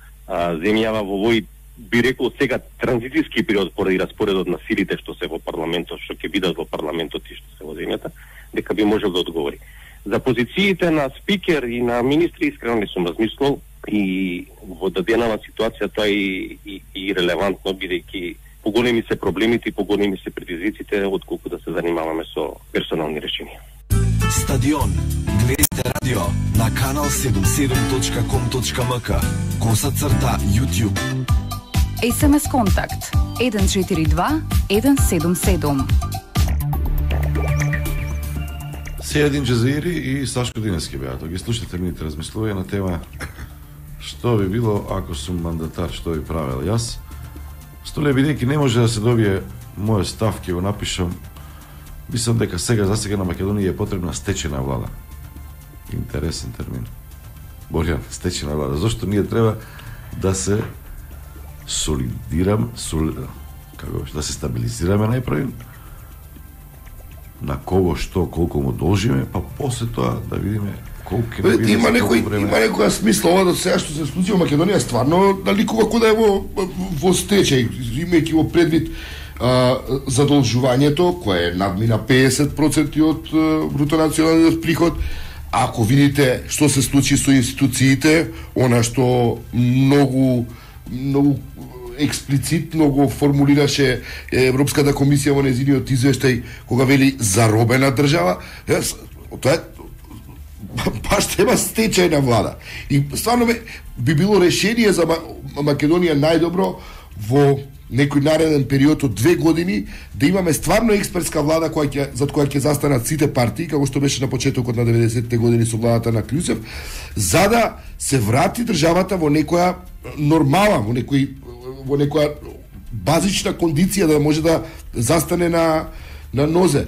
земјава во овој, би рекол сега, транзицијски период поради распоредот на силите што се во парламентот, што ќе бидат во парламентот и што се во земјата, дека би можел да одговори. За позициите на спикер и на министри искрено не сум размислил и во даденава ситуација тоа и релевантно, бидејќи поголеми се проблемите и поголеми се предизвиците отколку да се занимаваме со персонални решенија.
Стадион. Гледате радио на kanal77.com.mk _YouTube.
SMS контакт 142 177.
Сејадин Джазаири и Сашко Динески беа. Ги слушате мините размислувања на тема што би било ако сум мандатар, што би правел јас. Столе бидејќи не може да се добие мојот став, ќе го напишам. Мислам дека сега на Македонија е потребна стечена влада. Интересен термин. Боријан, стечена влада. Зошто ние треба да се да се стабилизираме најпрви на кого што колку му должиме, па после тоа да видиме колку ќе биде.
Има некоја смисла ова до сега што се случи во Македонија, стварно наликува како да е во стечај, имајќи во предвид задолжувањето кое надмина 50% од бруто националниот приход. Ако видите што се случи со институциите, она што многу експлицитно го формулираше Европската комисија во нејзиниот извештај кога вели заробена држава, тоа е баш треба стечајна влада. И стварно би било решение за Македонија најдобро во некој нареден период од 2 години да имаме стварно експертска влада зад која ќе застанат сите партии, како што беше на почетокот на 90-те години со владата на Клюсев, за да се врати државата во некоја нормала, во некоја базична кондиција да може да застане на нозе.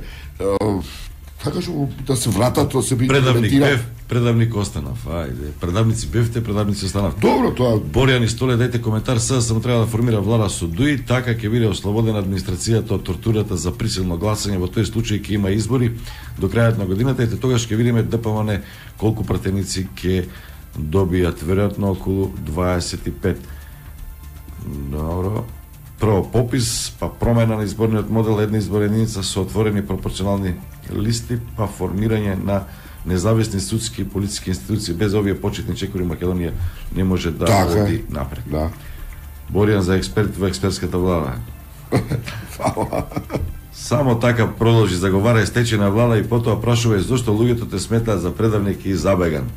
Така што да се вратат, да се
имплементира. Предавник останав, ајде. Предавници бевте, предавници останав.
Добро, тоа.
Боријан Истоле, дајте коментар, сега само треба да формира влада со ДУИ, така ќе биде ослободена администрацијата од тортурата за присилно гласање, во тој случај ќе има избори до крајот на годината, и тогаш ќе видиме ДПМН колку пратеници ќе добијат, веројатно околу 25. Добро. Прво попис, па промена на изборниот модел, една изборна единица со отворени пропорционални листи, па формирање на независни судски и политички институции. Без овие почетни чекори Македонија не може да оди напред.
Да.
Боријан за експерт во експертската влада. Само така продолжи, заговара стечајна влада и потоа прашува зошто луѓето те сметаат за предавник и забеган.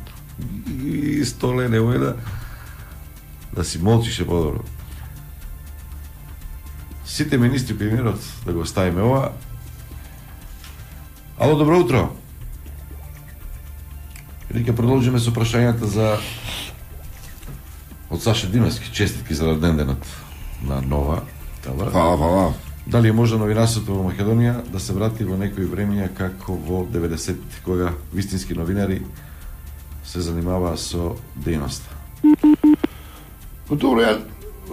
И Столе немој да си молчише подобро. Сите министри, премиерот, да го оставиме ова. Ало, добро утро. И ќе продолжиме со прашањата за од Саша Димевски. Честитки за роденденот на Нова.
Фала.
Дали е може новинарството во Македонија да се врати во некои времења како во 90-ти, кога вистински новинари се занимаваа со дејноста?
Добро, ја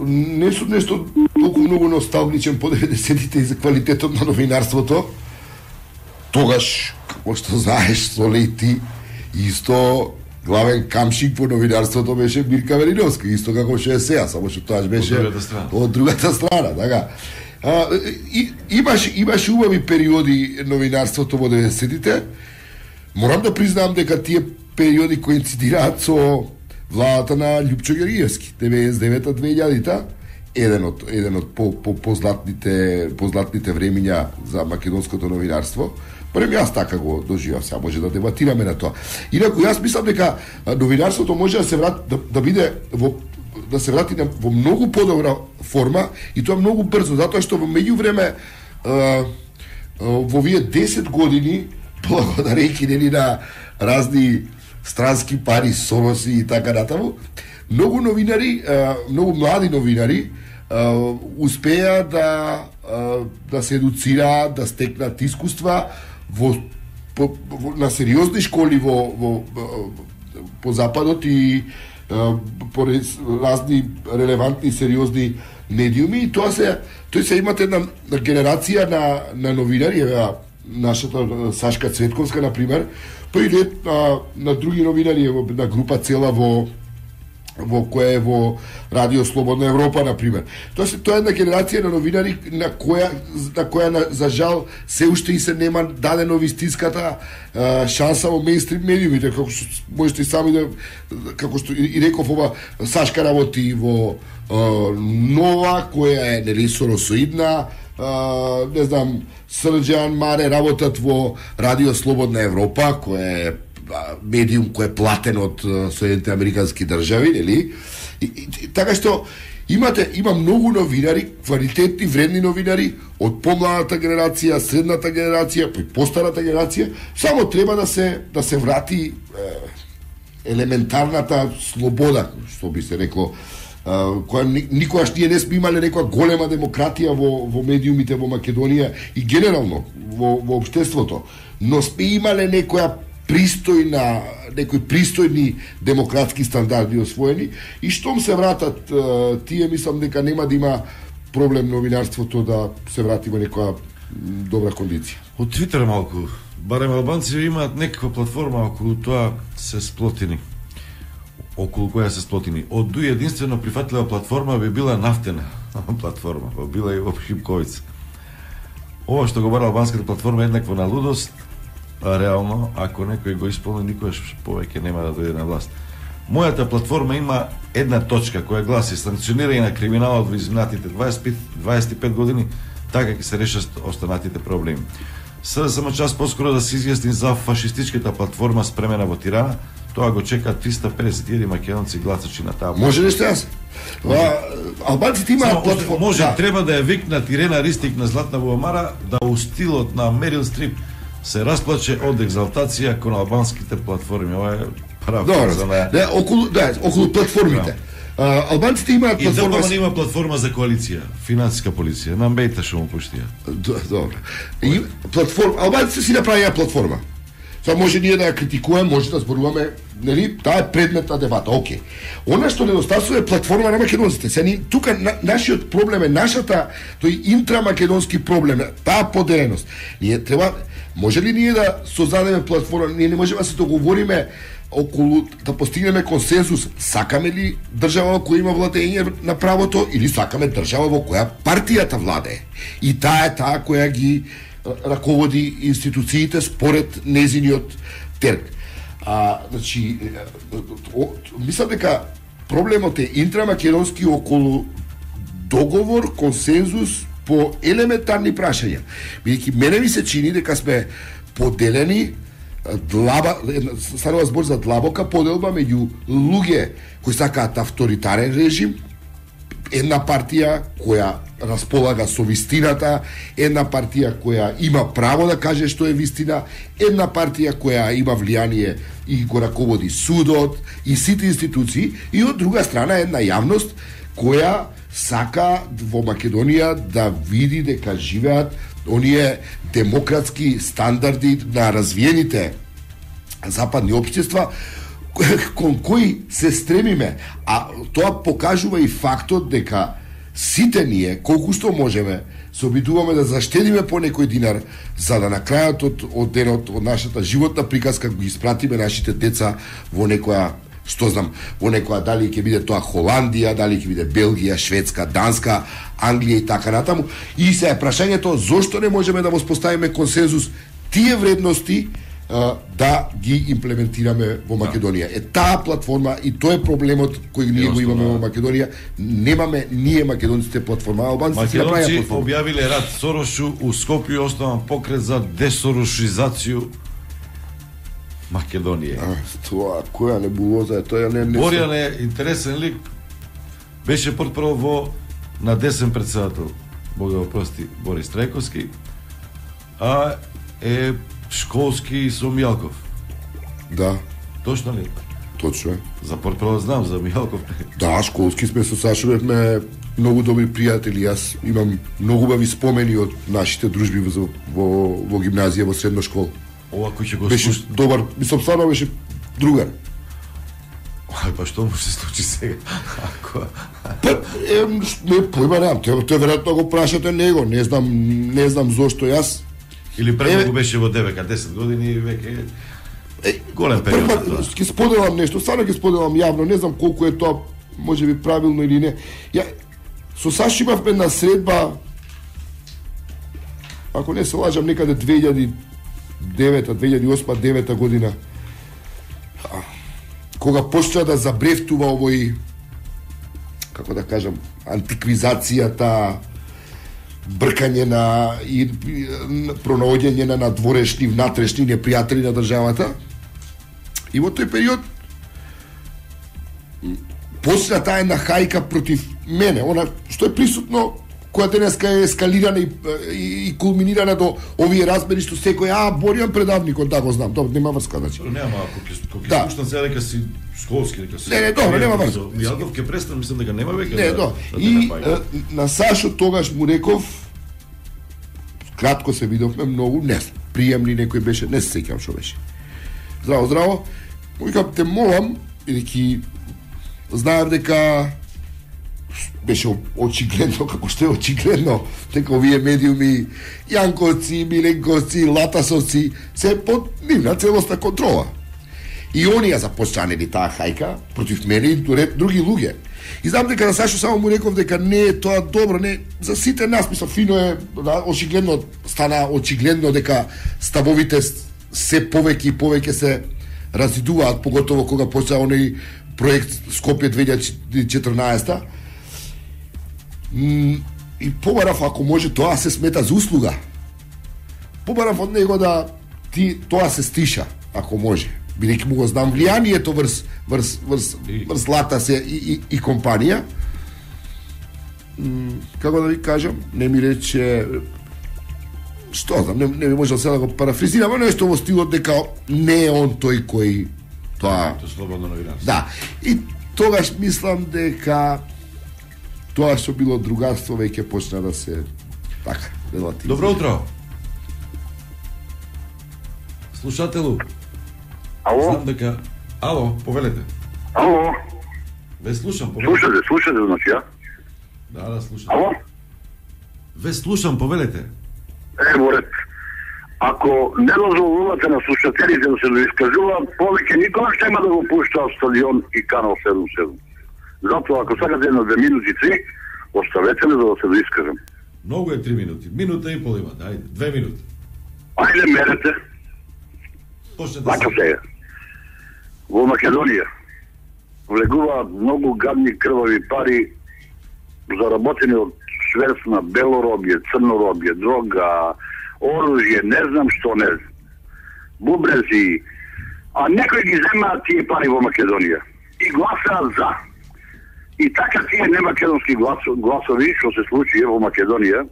не сум нешто толку многу носталгичен по 90-тите и за квалитетот на новинарството. Тогаш, како што знаеш, Соле и ти, исто главен камшик по новинарството беше Мирка Вериновска, исто како што е сега, само што тоа беше од другата страна, така. Имаше убави периоди новинарството во 90-тите. Морам да признам дека тие периоди коинцидираат со владата на Љупчо Георгиевски, 99-2000-та, еден од позлатните времиња за македонското новинарство. Барем јас така го доживав, сега може да дебатираме на тоа. Инаку јас мислам дека новинарството може да се врати да се врати во многу подобра форма и тоа многу брзо, затоа што во меѓувреме во овие 10 години, благодарејќи нели на разни странски пари, Сороси и така натаму, многу новинари, многу млади новинари успеа да се едуцираат, да стекнат искуства на сериозни школи по Западот и по разни релевантни сериозни медиуми, и тој се имате една генерација на новинари, нашата Сашка Цветковска, например, па и на други новинари, на група цела во која е во Радио Слободна Европа, например. Тоа е една генерација на новинари на која за жал се уште и се нема дадено вистинската шанса во мејнстрим медиумите, како што можете и сами да, како што и реков, ова Сашка работи во Нова, која е нели соросоидна, не знам, Срđан, Маре работат во Радио Слободна Европа, која е медиум кој е платен од Соединените американски држави, нели? Така што има многу новинари, квалитетни, вредни новинари од помладата генерација, средната генерација, па и постарата генерација, само треба да се врати елементарната слобода, што би се рекло, која никогаш ние не сме имале некоја голема демократија во медиумите во Македонија и генерално во општеството, но сме имале некои пристојни демократски стандарди освоени, и штом се вратат тие, мислам дека нема да има проблем новинарството да се врати во некоја добра кондиција.
Од Твитер малку, барем албанци имаат некаква платформа околу тоа се сплотени. Околу која се сплотени. Од дуј единствено прифатлива платформа би била нафтена платформа, била и во Шипковица. Ова што го бара албанската платформа е еднакво на лудост, а реално, ако некој го исполни, никогаш повеќе нема да дојде на власт. Мојата платформа има една точка која гласи санкционирање на криминалот во изминатите 25 години, така ќе се решат останатите проблеми. Сега само час поскоро да се изјасни за фашистичката платформа спремена во Тирана, тоа го чека 350.000 македонци гласачи на таа.
Може нешто јас? Албанците имаат платформа.
Може, треба да ја викнат Ирена Ристик на Златна Буамара да у стилот на Мерил Стрип се расплаче од екзалтација кон албанските платформи. Ова е прав за неа.
Околу платформите. Албанците имаат платформа.
И има платформа за коалиција, финансиска полиција. Нам бејте што му пуштија.
Добро. Платформа, албанците си направија платформа. Сега може ние да ја критикуваме, може да зборуваме, нели, таа е предмет на дебата, окей. Она што недостасува е платформа на македонците. Сега тука нашиот проблем е нашата тој интрамакедонски проблем, таа поделеност. Ние треба, може ли ние да создадеме платформа, ние не можеме да се договориме околу да постигнеме консенсус, сакаме ли држава во која има владење на правото или сакаме држава во која партијата владее. И таа е таа која ги раководи институциите според незиниот терк. Значи, мислам дека проблемот е интрамакедонски околу договор, консензус по елементарни прашања. Бидејќи мене ми се чини дека сме поделени, станува збор за длабока поделба меѓу луѓе кои сакаат авторитарен режим, една партија која располага со вистината, една партија која има право да каже што е вистина, една партија која има влијание и го раководи судот и сите институции, и од друга страна една јавност која сака во Македонија да види дека живеат оние демократски стандарди на развиените западни општества кон кои се стремиме, а тоа покажува и фактот дека сите ние, колку што можеме, се обидуваме да заштедиме по некој динар, за да на крајот од денот, од нашата животна приказка, ги испратиме нашите деца во некоја, што знам, во некоја, дали ќе биде тоа Холандија, дали ќе биде Белгија, Шведска, Данска, Англија и така натаму. И се е прашањето, зошто не можеме да воспоставиме консензус тие вредности да ги имплементираме во Македонија. Е таа платформа и тоа е проблемот кој ние го имаме во Македонија. Немаме ние македонците платформа, албанците си направија платформа.
Македонци објавиле рат Сорошу у Скопје, основан покрет за десорошизација Македонија.
Тоа која небулоза е тоа, не.
Борјан е интересен лик. Беше портпарол на десен председател, Бог да го прости, Борис Трајковски, а е школски со Мијалков.
Да.
Точно ли?
Точно е. За
портпарол знам, за Мијалков.
Да, школски сме со Сашо, бевме многу добри пријатели. Јас имам многу убави спомени од нашите дружби во гимназија, во средна школа.
Ова кој ќе го
беше добар, мислам стварно беше другар.
Па што му се случи сега?
Не појма немам, тој веројатно го прашате него, не знам зошто јас.
Или прво го беше во ДВК 10 години и веќе голем период.
Ќе споделам нешто, стварно ќе споделам јавно, не знам колку е тоа, можеби правилно или не. Ја со Сашо имавме една средба, ако не се лажам, некаде 2008-2009 година, кога почна да забрефтува овој, како да кажам, антиквизацијата, бркање на и пронаоѓање на надворешни, внатрешни непријатели на државата. И во тој период почна таа една хајка против мене, она што е присутно, која денеска е ескалирана и кулминирана до овие размери што секој Борјан предавникот, да го знам, добро, нема врска, значи.
Нема, ако ќе пуштам сега дека си школски, дека си.
Не, добро, нема врска.
Мијалков ќе престан, мислам дека нема веќе.
Не, добро. И на Сашо тогаш му реков, кратко се видовме многу, не, приемни некој беше, не се сеќавам што беше. Здраво, здраво. Му викам, те молам, бидејќи знаев дека беше очигледно, како што е очигледно, дека овие медиуми, Јанковци, Миленковци, Латасовци, се под нивна целосна контрола. И оние започнали таа хајка против мене и други луѓе. И знам дека на Сашо само му реков дека не е тоа добро, не за сите нас, мисля, фино е, да, очигледно стана очигледно дека ставовите се повеќе и повеќе се разидуваат, поготово кога почна оној проект Скопје 2014. И побарав, ако може, тоа се смета за услуга. Побарав од него да тоа се стиша, ако може. Бидејќи му го знам влијанието врз Латас и компанија. Како да ви кажам, не ми рече, што знам, не ми може да го парафризирам, нешто во стилот дека не е он тој кој тоа...
Тоа слободно новинарство.
Да. И тогаш мислам дека тоа што било другарство веќе почна да се така, релативно.
Добро утро. Слушателу.
Ало?
Знам дека... Ало, повелете.
Ало?
Ве слушам, повелете.
Слушате, значи, ја?
Да, слушам.
Ало?
Ве слушам, повелете.
Ево ред. Ако не дозволувате на слушателите да се доискажуваат, повеќе никога ќе има да го пуштаат Стадион и Канал 77. Затоа, ако сакате 1-2 минути 3, оставете ме за да се доискажам.
Многу е 3 минути. Минута и пол има, ајде, 2 минути.
Ајде мерете. Така сега. Во Македонија влегуваат многу гадни крвави пари заработени од шверц на белоробје, црноробје, дрога, оружје, не знам што не. Бубрези. А некои ги земаат тие пари во Македонија и гласаат за. И така тие немакедонски гласови, што се случи во Македонија,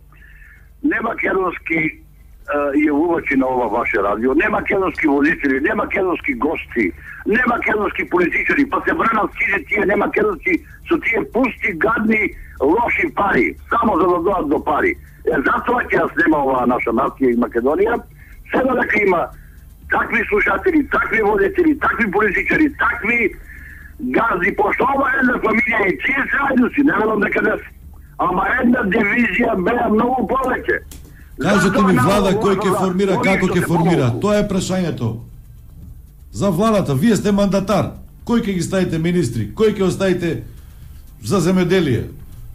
немакедонски јавувачи на ова ваше радио, не македонски водители, не македонски гости, не македонски политичари, па се бранат сите тие не македонски со тие пусти, гадни, лоши пари, само за да дојдат до пари. Затоа ќе ја снема оваа наша нација и Македонија, сега дека има такви слушатели, такви водители, такви политичари, такви гази, пошто ова една фамилија и тие се ајдуси, не ведам дека не се. Ама една дивизија беа многу повеќе.
Кажете ми влада кој ќе формира, како ќе формира. Тоа е прашањето. За владата, вие сте мандатар. Кој ќе ги ставите министри? Кој ќе оставите за земеделие?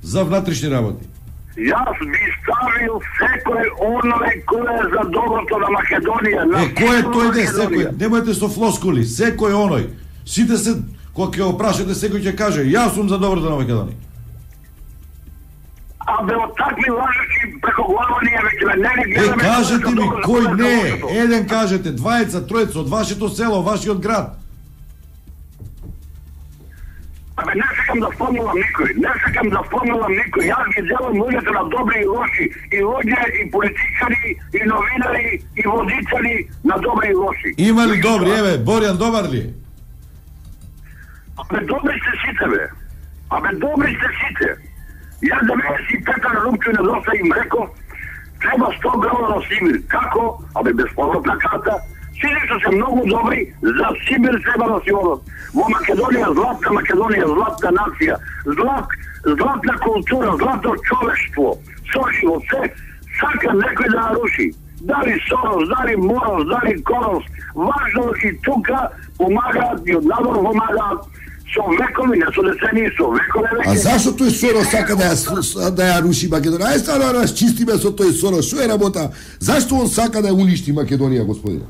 За внатрешни работи?
Јас би ставил секој оној кој е за доброто на Македонија.
Кој е тој де секој? Немојте со флоскули. Секој оној. Сите се, кога ќе опрашате, секој ќе каже, јас сум за доброто на Македонија.
А бе од такви лажачи преко глава ние веќе не гледаме...
Кажете ми, кој не е? Еден кажете, двајца, тројца, од вашето село, вашиот град.
Абе, не сакам да спомнувам никој, Јас ги делам луѓето на добри и лоши, и луѓе, и политичари, и новинари, и водители на добри и лоши.
Има ли добри, еве, Борјан добар ли е?
Абе, добри сте сите, бе. Јас 95 румчу на доста им реков, треба 100 грама на Сибир. Како? Абе, безповратна карта. Сите што се многу добри, за Сибир треба да си одат. Во Македонија, златна нација, златна култура, златно човештво, сошиво, се, сака некој да наруши. Дали Сорос, дали Морос, дали Корос, важно и тука помагаат и од надвор помагаат со векови, не со децени, со векови веќе.
А зашто тој Сорос сака да ја руши Македонија? Ајде стана да расчистиме со тој Сорос. Што е работа? Зашто он сака да ја уништи Македонија, господине?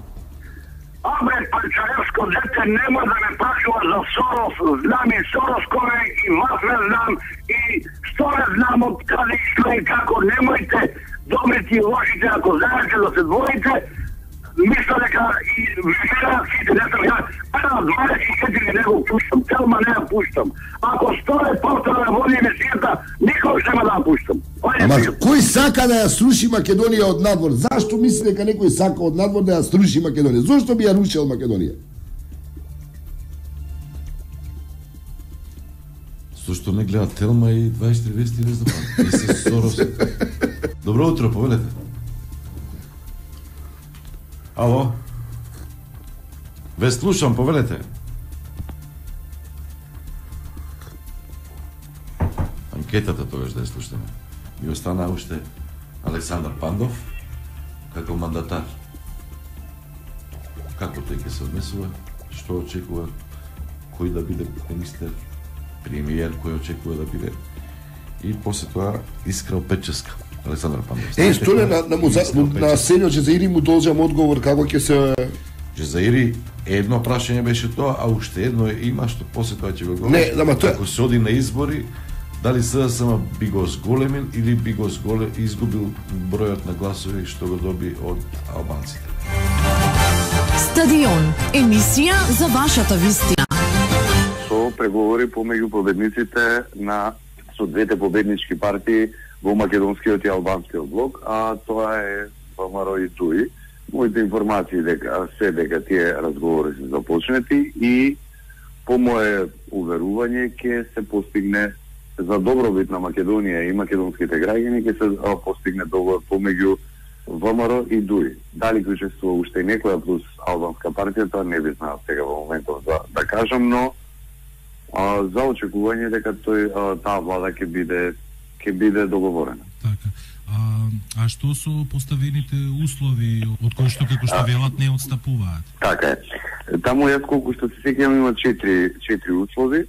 Абе, панчаревско дете нема да ме прашува за Сорос. Знам и Сорос кој е, и вас не знам, и што не знам од каде што и како. Немојте добрите и лошите, ако знаете да се двоите, мисля дека и вишера сите, не сам ја, 24 не го пуштам, Телма не ја пуштам. Ако 100 повтора да води емисијата, никој ще ме да ја пуштам.
Ама кој сака да ја сруши Македонија од надвор? Зашто мисли дека некој сака од надвор да ја сруши Македонија? Зошто би ја рушил Македонија?
Зошто не гледа Телма и 24 вести, не знам. И се Сорос. Добро утро, повелете. Ало? Ве слушам, повелете. анкетата тогаш да ја слушаме. Ми остана уште Александар Пандов како мандатар. Како тој ќе се однесува, што очекува, кој да биде министер, премиер, кој очекува да биде. И после тоа Искра Печеска. Александар Пандов.
Столе на Сенјо Джезаири му должам одговор како ќе се...
Джезаири, едно прашање беше тоа, а уште едно има што после тоа ќе го говори.
Не, ама тоа...
Ако се оди на избори, дали СДСМ би го зголемил или би го изгубил бројот на гласови што го доби од албанците.
Стадион, емисија за вашата вистина.
Со преговори помеѓу победниците со двете победнички партии во македонскиот и албанскиот блок, а тоа е ВМРО и ТУИ. Моите информации дека тие разговори се започнети и по мое уверување ќе се постигне за добробит на Македонија и македонските граѓани, ќе се постигне договор помеѓу ВМРО и ДУИ. Дали ќе учествува уште некоја плюс албанска партија, тоа не би знаел сега во моментов да кажам, но за очекување дека таа влада ќе биде договорена.
Така. А што со поставените услови од кои што како што велат не отстапуваат?
Така е. Таму јас колку што се сеќавам има 4 услови.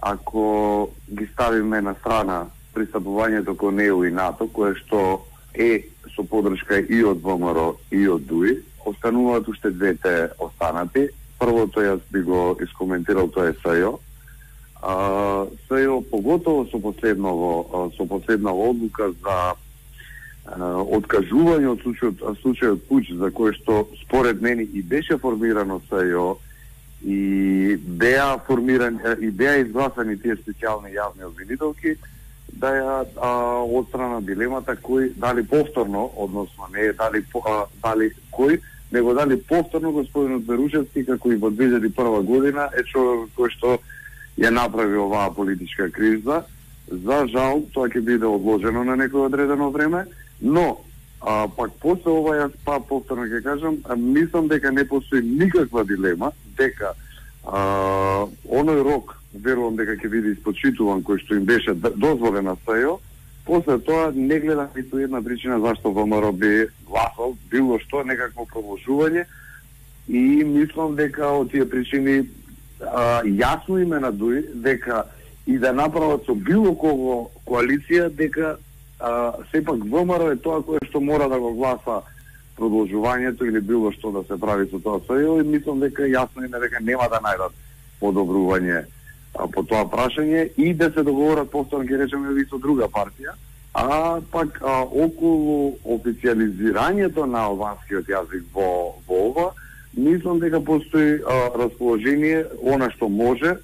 Ако ги ставиме на страна пристапувањето кон ЕУ и НАТО, кое што е со подршка и од ВМРО и од ДУИ, остануваат уште двете останати. Првото јас би го искоментирал, тоа е СЈО. СЈО поготово со последнава одлука за откажување од случајот Пуч, за кој што според мене и беше формирано СЈО и беа изгласани тие специјални јавни обвинителки, да ја отстрана дилемата кој дали повторно, односно не дали кој, него дали повторно господинот Берушевски, како и во 2001 година, е човек кој што ја направи оваа политичка криза. За жал, тоа ќе биде одложено на некој одредено време, но пак после ова јас повторно ќе кажам, мислам дека не постои никаква дилема дека оној рок, верувам дека ќе биде испочитуван кој што им беше дозволен на СЈО. После тоа не гледам ниту една причина зашто ВМРО би гласал било што, некакво продолжување, и мислам дека од тие причини јасно име на ДУИ дека и да направат со било кого коалиција, дека сепак ВМРО е тоа кое што мора да го гласа продолжувањето или било што да се прави со тоа СЈО, и мислам дека јасно име дека нема да најдат подобрување по тоа прашање и да се договорат повторно, ќе речеме, и со друга партија, а пак околу официализирањето на албанскиот јазик во ова, мислам дека постои расположение, она што може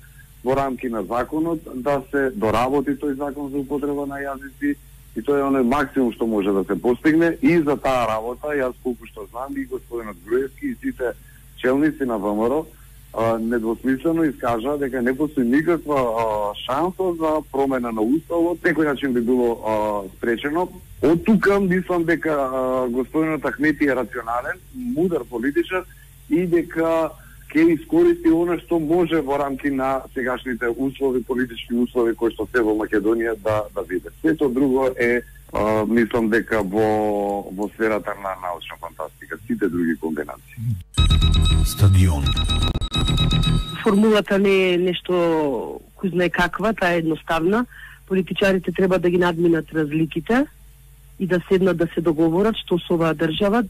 во рамки на законот, да се доработи тој закон за употреба на јазици, и тоа е оној максимум што може да се постигне. И за таа работа, јас колку што знам, и господинот Груевски и сите челници на ВМРО недвосмислено искажа дека не постои никаква шанса за промена на уставот, некој начин би било спречено. Од тука мислам дека господинот Ахмети е рационален, мудар политичар и дека ќе искористи она што може во рамки на сегашните услови, политички услови кои што се во Македонија да биде. Сето друго е мислам дека во сферата на научна фантастика, сите други комбинации.
Стадион.
Формулата не е нешто кој знае каква, таа е едноставна. Политичарите треба да ги надминат разликите и да седнат да се договорат што со оваа држава,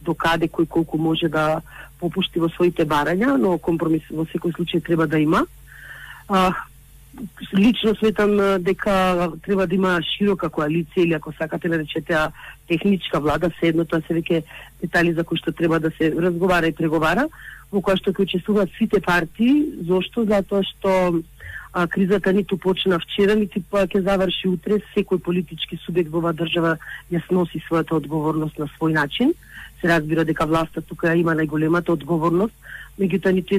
до каде кој колку може да попушти во своите барања, но компромис во секој случај треба да има. Лично сметам дека треба да има широка коалиција, или ако сакате да речете техничка влада, се едно, тоа се веќе детали за кои што треба да се разговара и преговара, во која што ќе учествуваат сите партии. Зошто? Затоа што кризата ниту почна вчера, ниту ќе заврши утре. Секој политички субјект во оваа држава ја сноси својата одговорност на свој начин. Се разбира дека власта тука има најголемата одговорност, меѓутоа ниту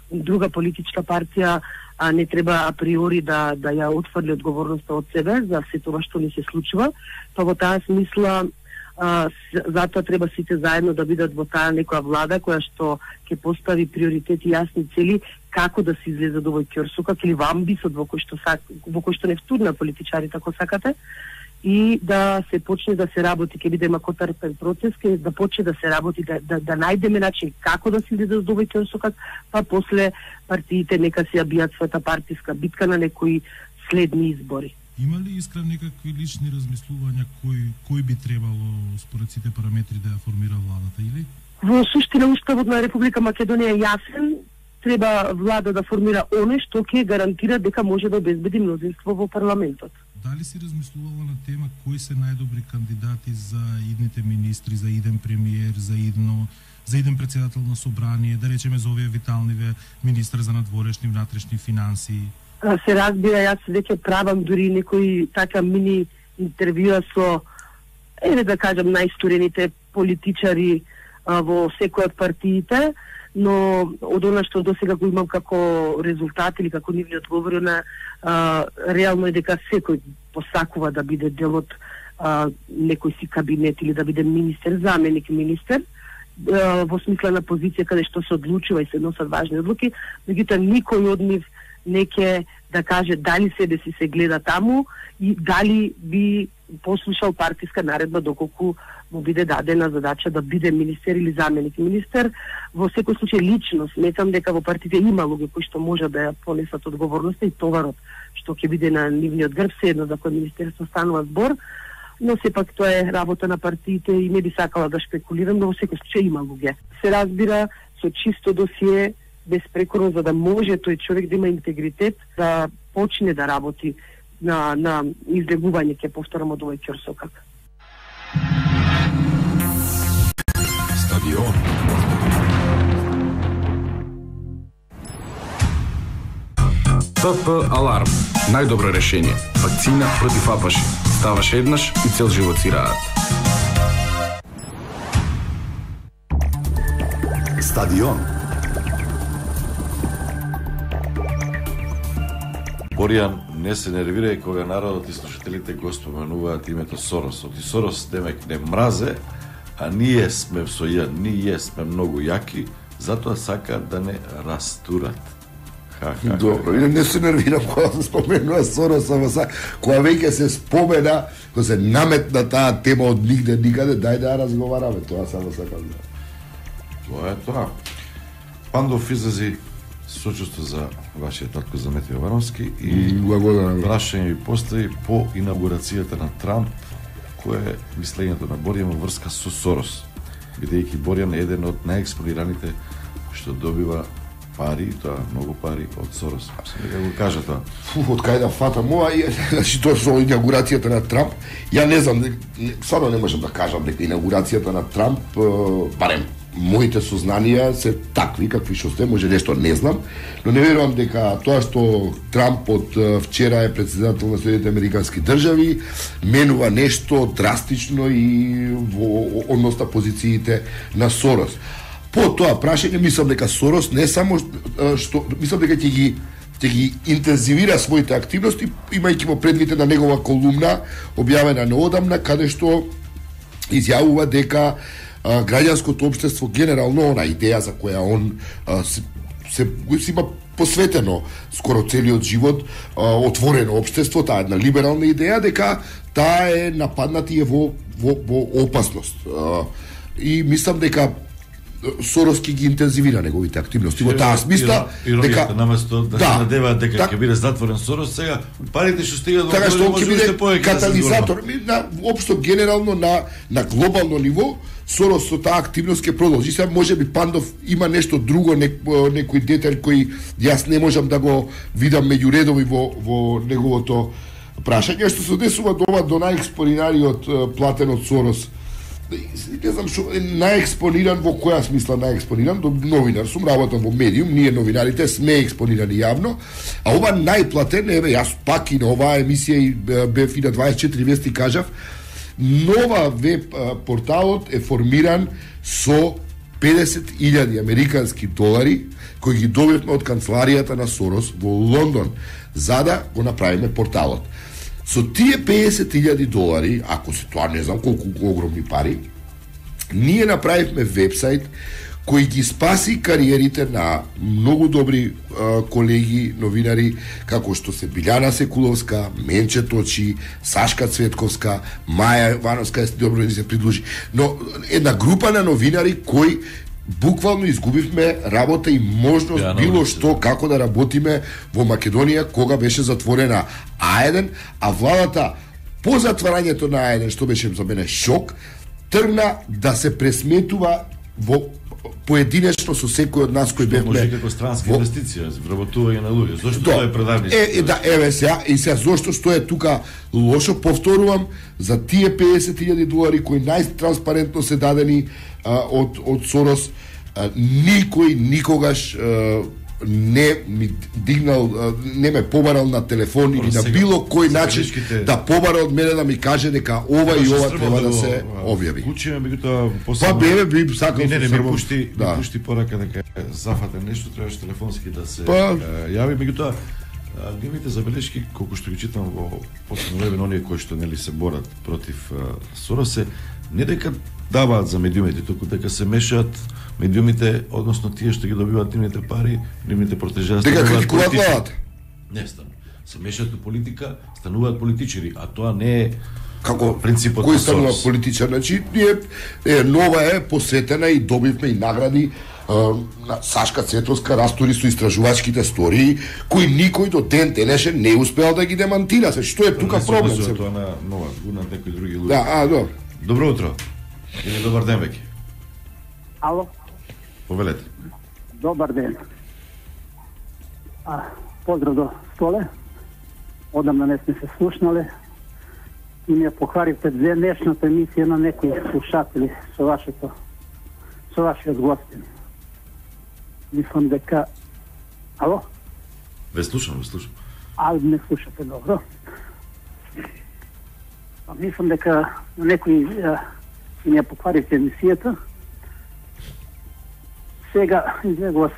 друга политичка партија не треба априори да ја отфрли одговорноста од себе за се тоа што ни се случува. Па во таа смисла затоа треба сите заедно да бидат во таа некоја влада која што ќе постави приоритети, јасни цели како да се излезе од овој ќорсокак или во амбисот во кој што не втурна политичарите ако сакате, и да се почне да се работи, ќе биде макотарпен процес, ќе да почне да се работи, да најдеме начин како да се излезе од овој ќорсокак, па после партиите нека си ја бијат својата партиска битка на некои следни избори.
Има ли Искра некакви лични размислувања кој би требало според сите параметри да ја формира владата или?
Во суштина уставот на Република Македонија е јасен, треба влада да формира оне што ќе гарантира дека може да обезбеди мнозинство во парламентот.
Дали си размислувала на тема кои се најдобри кандидати за идните министри, за иден премиер, за иден председател на собрание, да речеме за овие виталниве министр за надворешни и внатрешни финансии?
Се разбира, јас веќе правам дури некои така мини интервјуа со, да кажам, најстурените политичари во секој од партиите, но од она што досега го имам како резултат или како нивни одговори на реално е дека секој посакува да биде дел од некој си кабинет или да биде министер, заменик министер, во смислена позиција каде што се одлучува и се носат важни одлуки, меѓутоа никој од нив не ќе да каже дали себе си се гледа таму и дали би послушал партиска наредба доколку му биде дадена задача да биде министер или заменик министер. Во секој случај лично сметам дека во партиите има луѓе кои што може да ја понесат одговорноста и товарот што ќе биде на нивниот грб, се едно за кој министерство станува збор, но сепак тоа е работа на партиите и не би сакала да шпекулирам, но во секој случај има луѓе. Се разбира со чисто досие, безпрекорно, за да може тој човек да има интегритет, да почне да работи на излегување, ќе повторам, од овој ќорсокак.
Стадион.
ПП Аларм. Најдобро решение. Вакцина против апаши. Ставаш еднаш и цел живот си раат.
Стадион. Боријан, не се нервирај кога народот и слушателите го споменуваат името Сорос. Оти Сорос демек не мразе, а ние сме ние сме многу јаки, затоа сакаат да не растурат.
Добро, не се нервирам кога се споменува Сорос, кога веќе се спомена, кога се наметна таа тема од нигде никаде, дај да разговараме, тоа само сакам да.
Тоа е тоа. Пандов излези сочувство за вашиот татко за Метео Варовски и прашање ви постави по инаугурацијата на Трамп, кое е мислењето на Боријан во врска со Сорос, бидејќи Боријан е еден од најекспонираните што добива пари, тоа многу пари од Сорос. Сега го кажа тоа.
Од кај да фатам ова, значи тоа со инаугурацијата на Трамп, ја не знам, стварно не можам да кажам дека инаугурацијата на Трамп, барем моите сознанија се такви какви што се, може нешто не знам, но не верувам дека тоа што Трамп од вчера е председател на Соединетите Американски држави менува нешто драстично и во однос на позициите на Сорос. По тоа прашање мислам дека Сорос не само што мислам дека ќе ги интензивира своите активности, имајќи во предвид на негова колумна објавена неодамна каде што изјавува дека граѓанското општество генерално, она идеја за која он се има посветено скоро целиот живот, отворено општество, таа една либерална идеја, дека таа е нападната и е во опасност. И мислам дека Сорос ќе ги интензивира неговите активности во таа смисла, дека
наместо да се надеваат дека ќе биде затворен Сорос, сега парите што стигаат
така што ќе биде катализатор на општо генерално на глобално ниво. Сорос со таа активност ќе продолжи. Сега можеби Пандов има нешто друго, некој детај кој јас не можам да го видам меѓу редови во неговото прашање, што се однесува до најекспонираниот платен од Сорос. Не знам што најекспониран, во која смисла најекспониран, до новинар сум, работам во медиум, ние новинарите сме експонирани јавно, а ова најплатен, еве јас пак и на оваа емисија и бев и на 24 вести кажав, нова веб порталот е формиран со 50.000 американски долари кои ги добивме од канцеларијата на Сорос во Лондон за да го направиме порталот. Со тие 50.000 долари, ако се тоа не знам колку огромни пари, ние направивме вебсайт кој ги спаси кариерите на многу добри колеги новинари, како што се Билјана Секуловска, Менче Точи, Сашка Цветковска, Маја Вановска, добро ни се придружи. Но една група на новинари кои буквално изгубивме работа и можност било што како да работиме во Македонија кога беше затворена А1, а владата по затварањето на А1, што беше за мене шок, тргна да се пресметува во поединечно со секој од нас кој бевме.
Може како странска инвестиција, вработување на луѓе. Зошто тоа е предавници?
Да, еве сега, и сега зошто што е тука лошо, повторувам, за тие $50,000 кои најтранспарентно се дадени од Сорос, никој никогаш не ми дигнал, не ме побарал на телефон или на било кој начин да побара од мене да ми каже дека ова и ова треба да се објави.
Кучиме меѓутоа после.
Па би сакал
не ми пушти порака дека зафате нешто, требаше телефонски да се јави, меѓутоа нивните забелешки колку што ги читам во последно време оние кои што нели се борат против Соросе, не дека даваат за медиумите, туку дека се мешаат медиумите, односно тие што ги добиваат нивните пари, нивните протежа
дека критикуваат владата.
Не стану. Се мешаат у политика, стануваат политичари, а тоа не е
како
принципот
кој станува политичар. Значи, нова е посветена и добивме и награди на Сашка Цветовска, растори со истражувачките стории, кои никој до ден денешен не успеал да ги демантира. Што е тука проблем?
Тоа на нова, на некои други луѓе.
Да, добро.
Добро утро. Или добар ден веќе.
Ало.
Повелете.
Добар ден. Поздрав до Столе. Одамна не сме се слушнале и ми ја покваривте денешната емисија на некои слушатели со вашиот гостин. Мислам дека... Ало?
Ве слушам.
Не слушате добро. Мислам дека некои ми ја покваривте емисијата. Сега, извинете вас,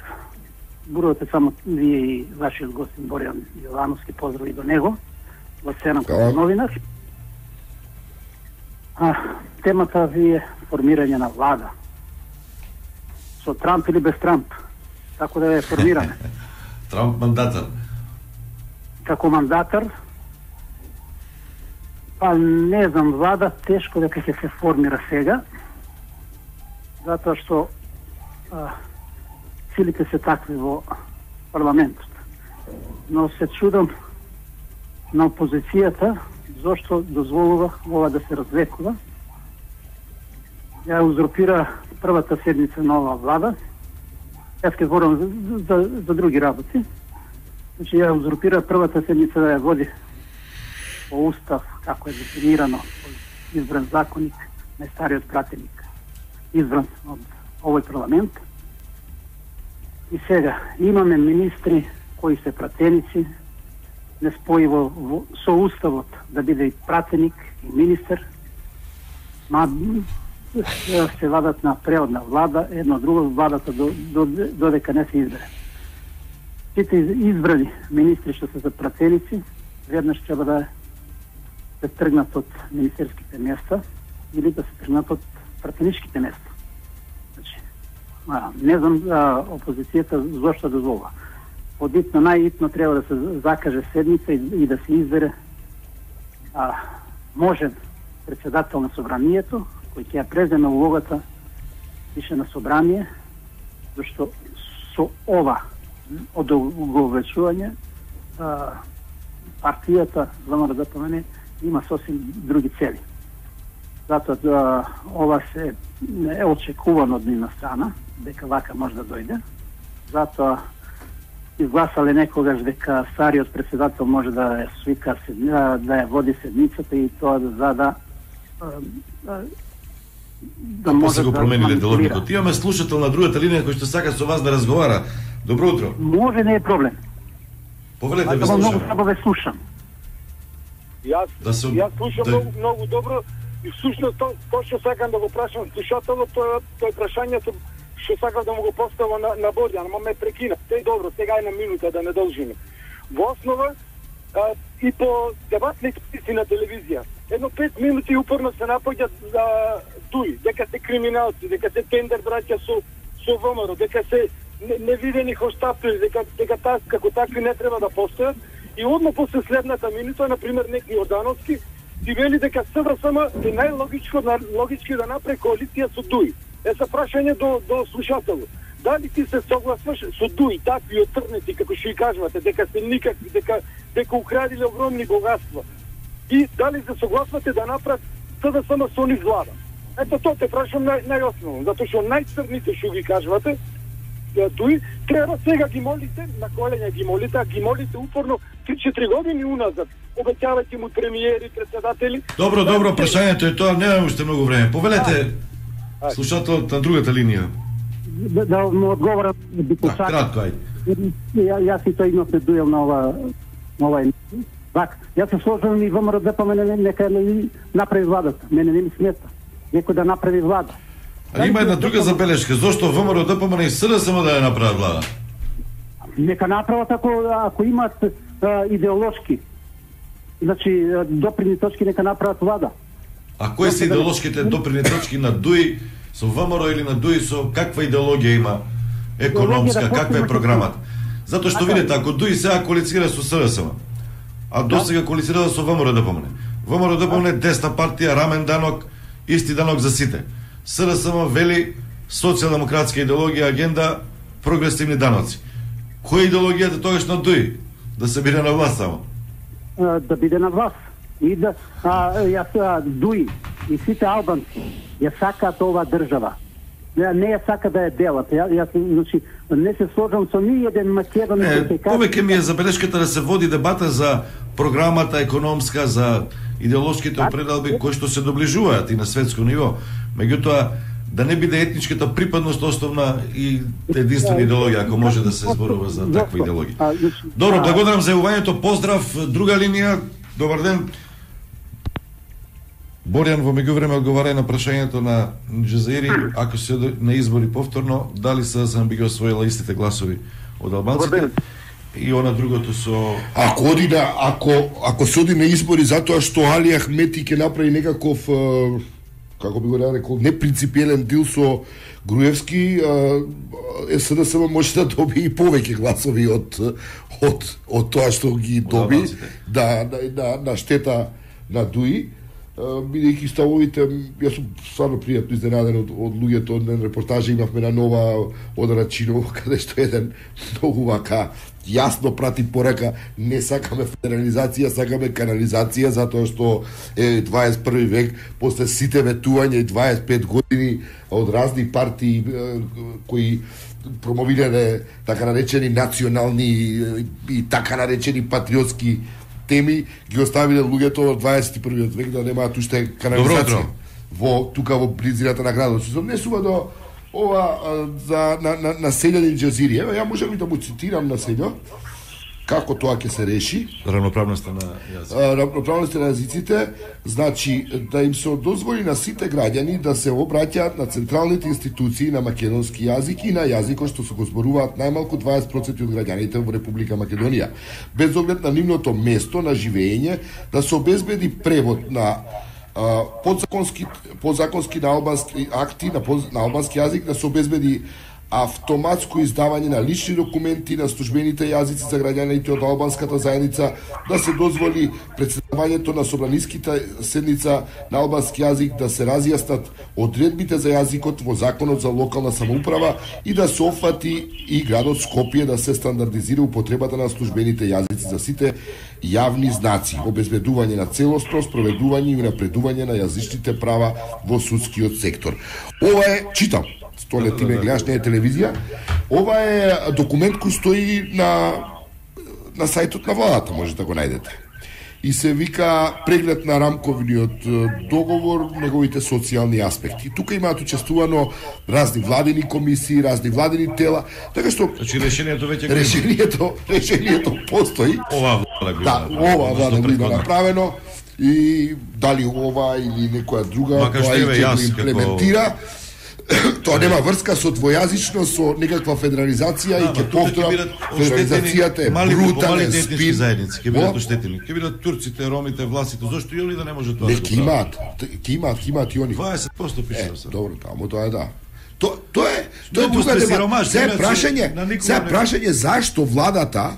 бурувате само вие и вашиот гостин Боријан Јовановски, поздрави до него, во сцена како новинар. Темата ви е формирање на влада. Со Трамп или без Трамп? Како да ја формираме?
Трамп мандатар.
Како мандатар? Па не знам, влада тешко дека ќе се формира сега, затоа што силите се такви во парламентот. Но се чудам на опозицијата зошто дозволува ова да се развлекува. Ја узурпира првата седница на оваа влада. Јас ќе говорам за други работи. Значи, ја узурпира првата седница да ја води по устав, како е дефинирано, избран законник, најстариот пратеник, избран од овој парламент. И сега имаме министри кои се пратеници, не спојиво со уставот да биде и пратеник и министер, се вадат на преодна влада, едно друго владата додека не се избере. Сите избрани министри што се за пратеници, веднаш треба да се тргнат од министерските места или да се тргнат од пратеничките места. Значи, не знам опозицијата зошто дозволува. Одитно, најитно треба да се закаже седница и да се избере можен председател на собранието, кој ќе ја преземе улогата више на собрание, зашто со ова одовечување партијата ВМРО ДПМН има сосем други цели. Затоа ова се е очекувано од нивна страна, дека вака може да дојде. Затоа изгласале некогаш дека стариот председател може да ја свика, да ја води седницата и тоа да
може да го промениле деловникот. Имаме слушател на другата линија кој што сака со вас да разговара. Добро утро.
Може, не е проблем.
Повелете, ве слушам.
Многу слабо ве слушам.
Јас слушам многу добро и всушност тоа што сакам да го прашам слушателот, тоа прашањето што сакам да му го поставам на Борјан, ама ме прекина. Тој добро, сега е на минута да не должиме. Во основа и по дебатните списи на телевизија, едно 5 минути упорно се напоѓат дуи, дека се криминалци, дека се тендер браќа со со ВМРО, дека се невидени хоштапи, дека како такви не треба да постојат, и одма после следната минута, например, некој Јордановски ти вели дека СДСМ е најлогички да направи коалиција со ДУИ. Се прашање до слушателот. Дали ти се согласуваш со ДУИ, такви отрнети, како што и кажувате, дека се никакви, дека украдиле огромни богатства? И дали се согласувате да направат СДСМ со нив влада? Ето тоа те прашам најосновно, затоа што најцрните што ги кажувате, ДУИ, треба сега ги молите, на коленја ги молите упорно 3-4 години уназад. Обеќавајте му премиери, председатели.
Добро, прашањето е тоа, немаме уште многу време. Повелете слушателот на другата линија.
Да му одговорам депутат.
Кратко, ајде.
Јас и тој имавме дуел на ова Так, јас се сложам и ВМРО ДПМН нека не направи владата. Мене не ми смета. Некој да направи влада.
А има една друга забелешка, зошто ВМРО ДПМН и СДСМ да ја направат влада?
Нека направат ако имат идеолошки, значи допирни точки, нека направат влада.
А кои се идеолошките допирни точки на ДУИ со ВМРО или на ДУИ со каква идеологија има економска, каква е програмата? Затоа што видите, ако ДУИ сега коалицира со СДСМ, а досега коалицирала со ВМРО ДПМН. ВМРО ДПМН е десна партија, рамен данок, исти данок за сите. СДСМ вели социјалдемократска идеологија, агенда, прогресивни даноци. Која идеологијата тогаш на ДУИ? Да се биде на власт само?
Да биде на власт. И да ДУИ и сите албанци ја сакаат оваа држава. Не ја сака да ја делат. Јас значи не се сложам со ни еден македонец.
Повеќе ми е забелешката да се води дебата за програмата економска, за идеолошките определби кои што се доближуваат и на светско ниво. Меѓутоа, да не биде етничката припадност основна и единствена идеологија, ако може да се зборува за таква идеологија. Добро, благодарам за јавувањето. Поздрав, друга линија. Добар ден. Борјан во меѓувреме одговара на прашањето на Джезаири, ако се на избори повторно, дали СДСМ би ги освоила истите гласови од албанците? И она другото со...
Ако се оди на избори затоа што Али Ахмети ќе направи некаков, како би го рекол, непринципиелен дил со Груевски, СДСМ може да доби и повеќе гласови од тоа што ги доби, на штета на ДУИ, бидејќи ставовите, јас сум стварно пријатно изненаден од луѓето, од репортажа имавме на Нова од Рачиново, каде што еден многу вака јасно прати порака, не сакаме федерализација, сакаме канализација, затоа што е 21 век, после сите ветувања и 25 години од разни партии кои промовирале така наречени национални и така наречени патриотски теми, ги оставиле луѓето од 21 век да немаат уште канализација тука во близината на градот. Се однесува до ова за на селјанин Джазири. Ева, ја можам и да му цитирам на селјо како тоа ќе се реши.
Равноправноста на јазиците.
Равноправноста на јазиците, значи да им се дозволи на сите граѓани да се обраќаат на централните институции на македонски јазик и на јазикот што се го зборуваат најмалку 20% од граѓаните во Република Македонија, без оглед на нивното место на живење, да се обезбеди превод на подзаконски на албански акти на албански јазик, да се обезбеди автоматско издавање на лични документи на службените јазици за граѓаните од албанската заедница, да се дозволи претседавањето на собраниските седница на албански јазик, да се разјаснат одредбите за јазикот во законот за локална самоуправа и да се офати и градот Скопје да се стандардизира употребата на службените јазици за сите јавни знаци, обезбедување на целосно спроведување и напредување на јазичните права во судскиот сектор. Ова е, читам, столе ти ме гледаш, не е телевизија, ова е документ кој стои на сајтот на владата, може да го најдете. И се вика преглед на рамковниот договор, неговите социјални аспекти. Тука имаат учествувано разни владини комисии, разни владини тела, така што
значи решението веќе
решението постои.
Ова
влада го има направено и дали ова или некоја друга тоа и ќе го имплементира. Тоа нема врска со двојазичност, со некаква федерализација и ќе повторам, федерализацијата е брутален спин.
Ќе бидат оштетени. Ќе бидат турците, ромите, власите, зошто и они да не може тоа?
Не, ќе имаат и они.
20% пишува се.
Добро, тамо тоа е да. Тоа е Тоа е друга дебата. Се
на
прашање зашто владата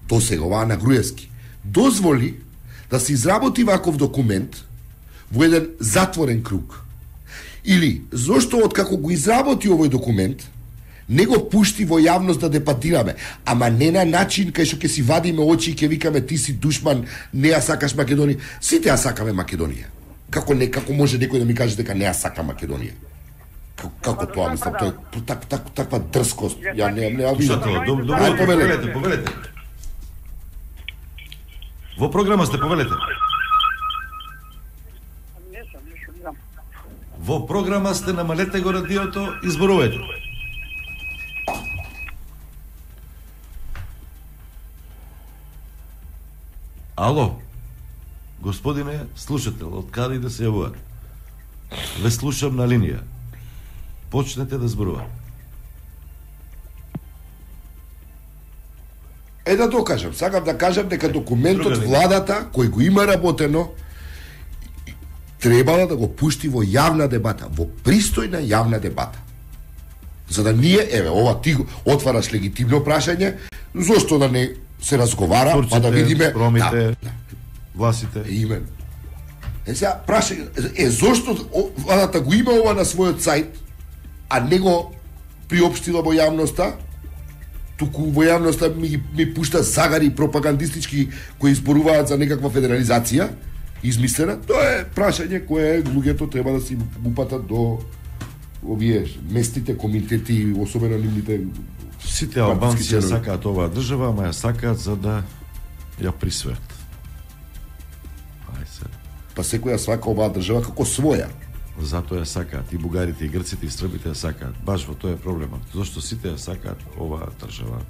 до сега оваа на Груевски дозволи да се изработи ваков документ во еден затворен круг. Или зошто откако го изработи овој документ не го пушти во јавност да дебатираме, ама не на начин кај што ќе си вадиме очи и ќе викаме ти си душман, не ја сакаш Македонија. Сите ја сакаме Македонија. Како може некој да ми каже дека не ја сака Македонија? Како тоа, мислам, тоа е таква дрскост. Ја не видам.
Повелете. Во програма сте, повелете. Во програма сте, намалете го радиото, изборувајте. Ало, господине слушател, од каде да се јавувате? Ве слушам на линија. Почнете да зборувате.
Да докажам, сакам да кажам дека документот владата кој го има работено требало да го пушти во јавна дебата, во пристојна јавна дебата. За да ние, ова ти отвараш легитимно прашање, зошто да не се разговара,
Турците,
па да видиме
ромите, власите.
Именно. Сега прашање, зошто владата го има ова на својот сајт, а не го приопштила во јавноста? Туку во јавноста ми пушта загари пропагандистички кои изборуваат за некаква федерализација измислена. Тоа е прашање кое луѓето треба да си упатат до овие местните комитети, особено нивните.
Сите албанци ја сакаат оваа држава, ама ја сакаат за да ја присвојат.
Па секој ја сака оваа држава како своја.
Затоа ја сакаат и бугарите, и грците, и србите ја сакаат. Баш во тоа е проблемот. Зошто сите ја сакаат оваа држава.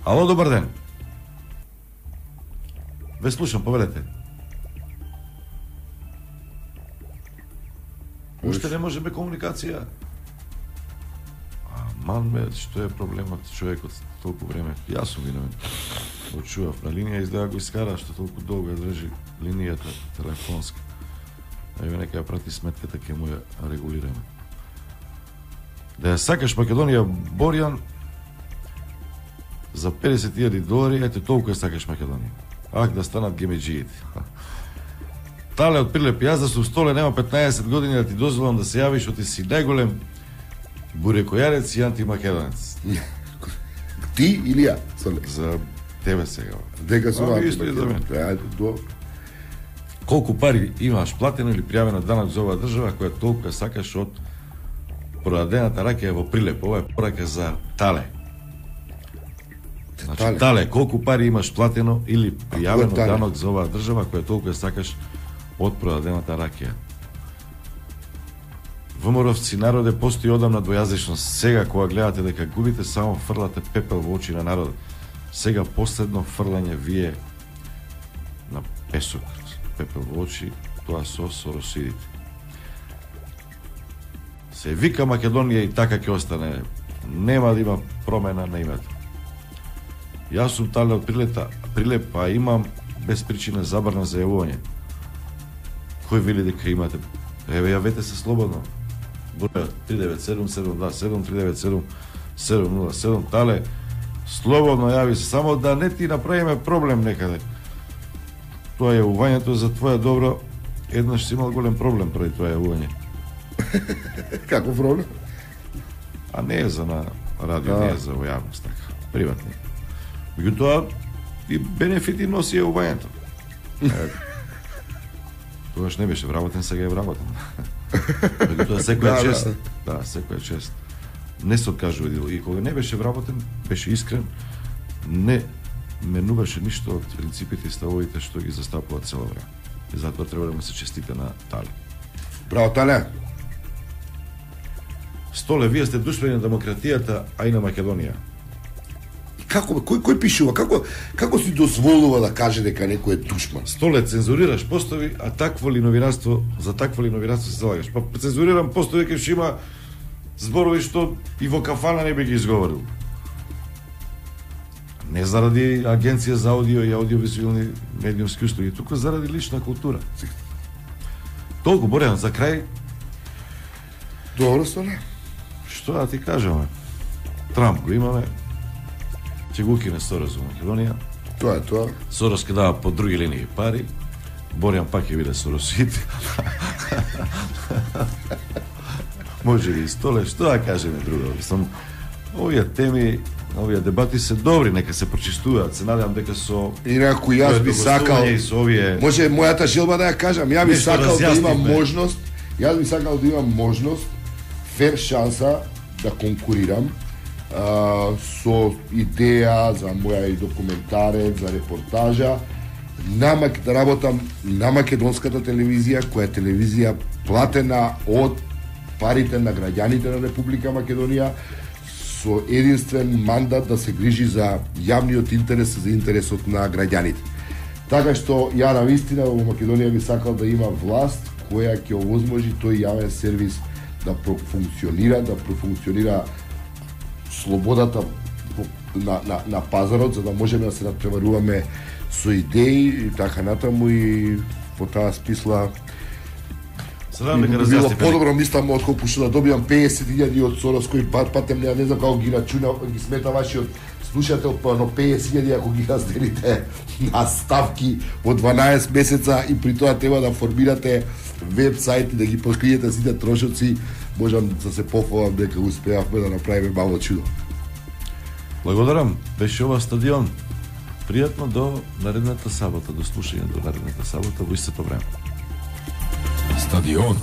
Ало, добар ден. Ве слушам, повелете. Уште не можеме комуникација. Манме, што е проблемот, човекот толку време. Јас сум виновен. Очував на линија, изгледа го искара, што толку долго ја држи линијата телефонска. Еве нека ја прати сметката, ќе му ја регулираме. Да ја сакаш Македонија, Борјан, за $50,000, ете толку ја сакаш Македонија. Ах, да станат гемеджиите. Тале од Прилеп, јас да сум столе, нема 15 години да ти дозволам да се јавиш, што ти си најголем бурекојарец и антимакедонец.
Ти или ја?
За тебе сега.
Дека сум
Колку пари имаш платено или пријавено данок за оваа држава која толку ја сакаш од продадената ракија во Прилеп? Ова е порака за Тале. Значи, Тале, колку пари имаш платено или пријавено данок за оваа држава која толку ја сакаш од продадената ракија? ВМРО-вци, народе, постои одамна двојазичност. Сега, кога гледате дека губите, само фрлате пепел во очи на народот. Сега последно фрлање вие на песок, пепел во очи, тоа со соросидите. Се вика Македонија и така ќе остане. Нема да има промена на името. Јас сум Тале од Прилеп, а имам без причина забрана за јавување. Кој вели дека имате? Еве, јавете се слободно. Бројот 397-727 397-707 Тале, слободно јави се, само да не ти направиме проблем некаде. Тоа јавувањето за твоја добро, еднаш си имал голем проблем преди тоа јавување.
Како проблем?
А не е за на радио, не е за во јавност, така, приватни. Меѓутоа, и бенефити носи јавувањето. Тогаш не беше вработен, сега е вработен. Меѓутоа, секоја чест. Да, секоја чест. Не се откажува дело. И кога не беше вработен, беше искрен, не менуваше ништо од принципите и ставовите што ги застапува цело време. И затоа треба да му се честите на Тале.
Браво, Тале!
Столе, вие сте душмани на демократијата, а и на Македонија.
Како кој пишува? Како си дозволува да каже дека некој е душман?
Столе, цензурираш постови, а такво ли новинарство, за такво ли новинарство се залагаш? Па цензурирам постови кај што има зборови што и во кафана не би ги изговорил. Не заради агенција за аудио и аудиовизуелни медиумски услуги, туку заради лична култура. Толку, Борјан, за крај,
Добро стане.
Што да ти кажеме? Трамп го имаме. Ќе го укине Сорос во Македонија.
Тоа е тоа.
Сорос ќе дава по други линии пари. Борјан пак ќе биде Соросит. Може ли столе, што да кажеме друго? Мислам, овие теми, овие дебати се добри, нека се прочистуваат. Се надевам дека со
инаку јас би сакал, може мојата желба да ја кажам, ја би сакал да имам можност, јас би сакал да имам можност, фер шанса да конкурирам со идеја за моја и документарец, за репортажа, да работам на македонската телевизија, која е телевизија платена од парите на граѓаните на Република Македонија, со единствен мандат да се грижи за јавниот интерес, за интересот на граѓаните. Така што ја на вистина во Македонија би сакал да има власт која ќе овозможи тој јавен сервис да профункционира слободата на пазарот, за да можеме да се надпреваруваме со идеи и така натаму, и по таа смисла било подобро, мислам, отколку што да добивам 50.000 од Сорос, кој патем не знам како ги рачуна, ги смета вашиот слушател, но 50.000 ако ги разделите на ставки во 12 месеца и при тоа треба да формирате веб-сайт и да ги покриете сите трошоци, можам да се пофалам дека успеавме да направиме мало чудо.
Благодарам, беше ова Стадион. Пријатно до наредната сабота, до слушање до наредната сабота во истото време.
Стадион.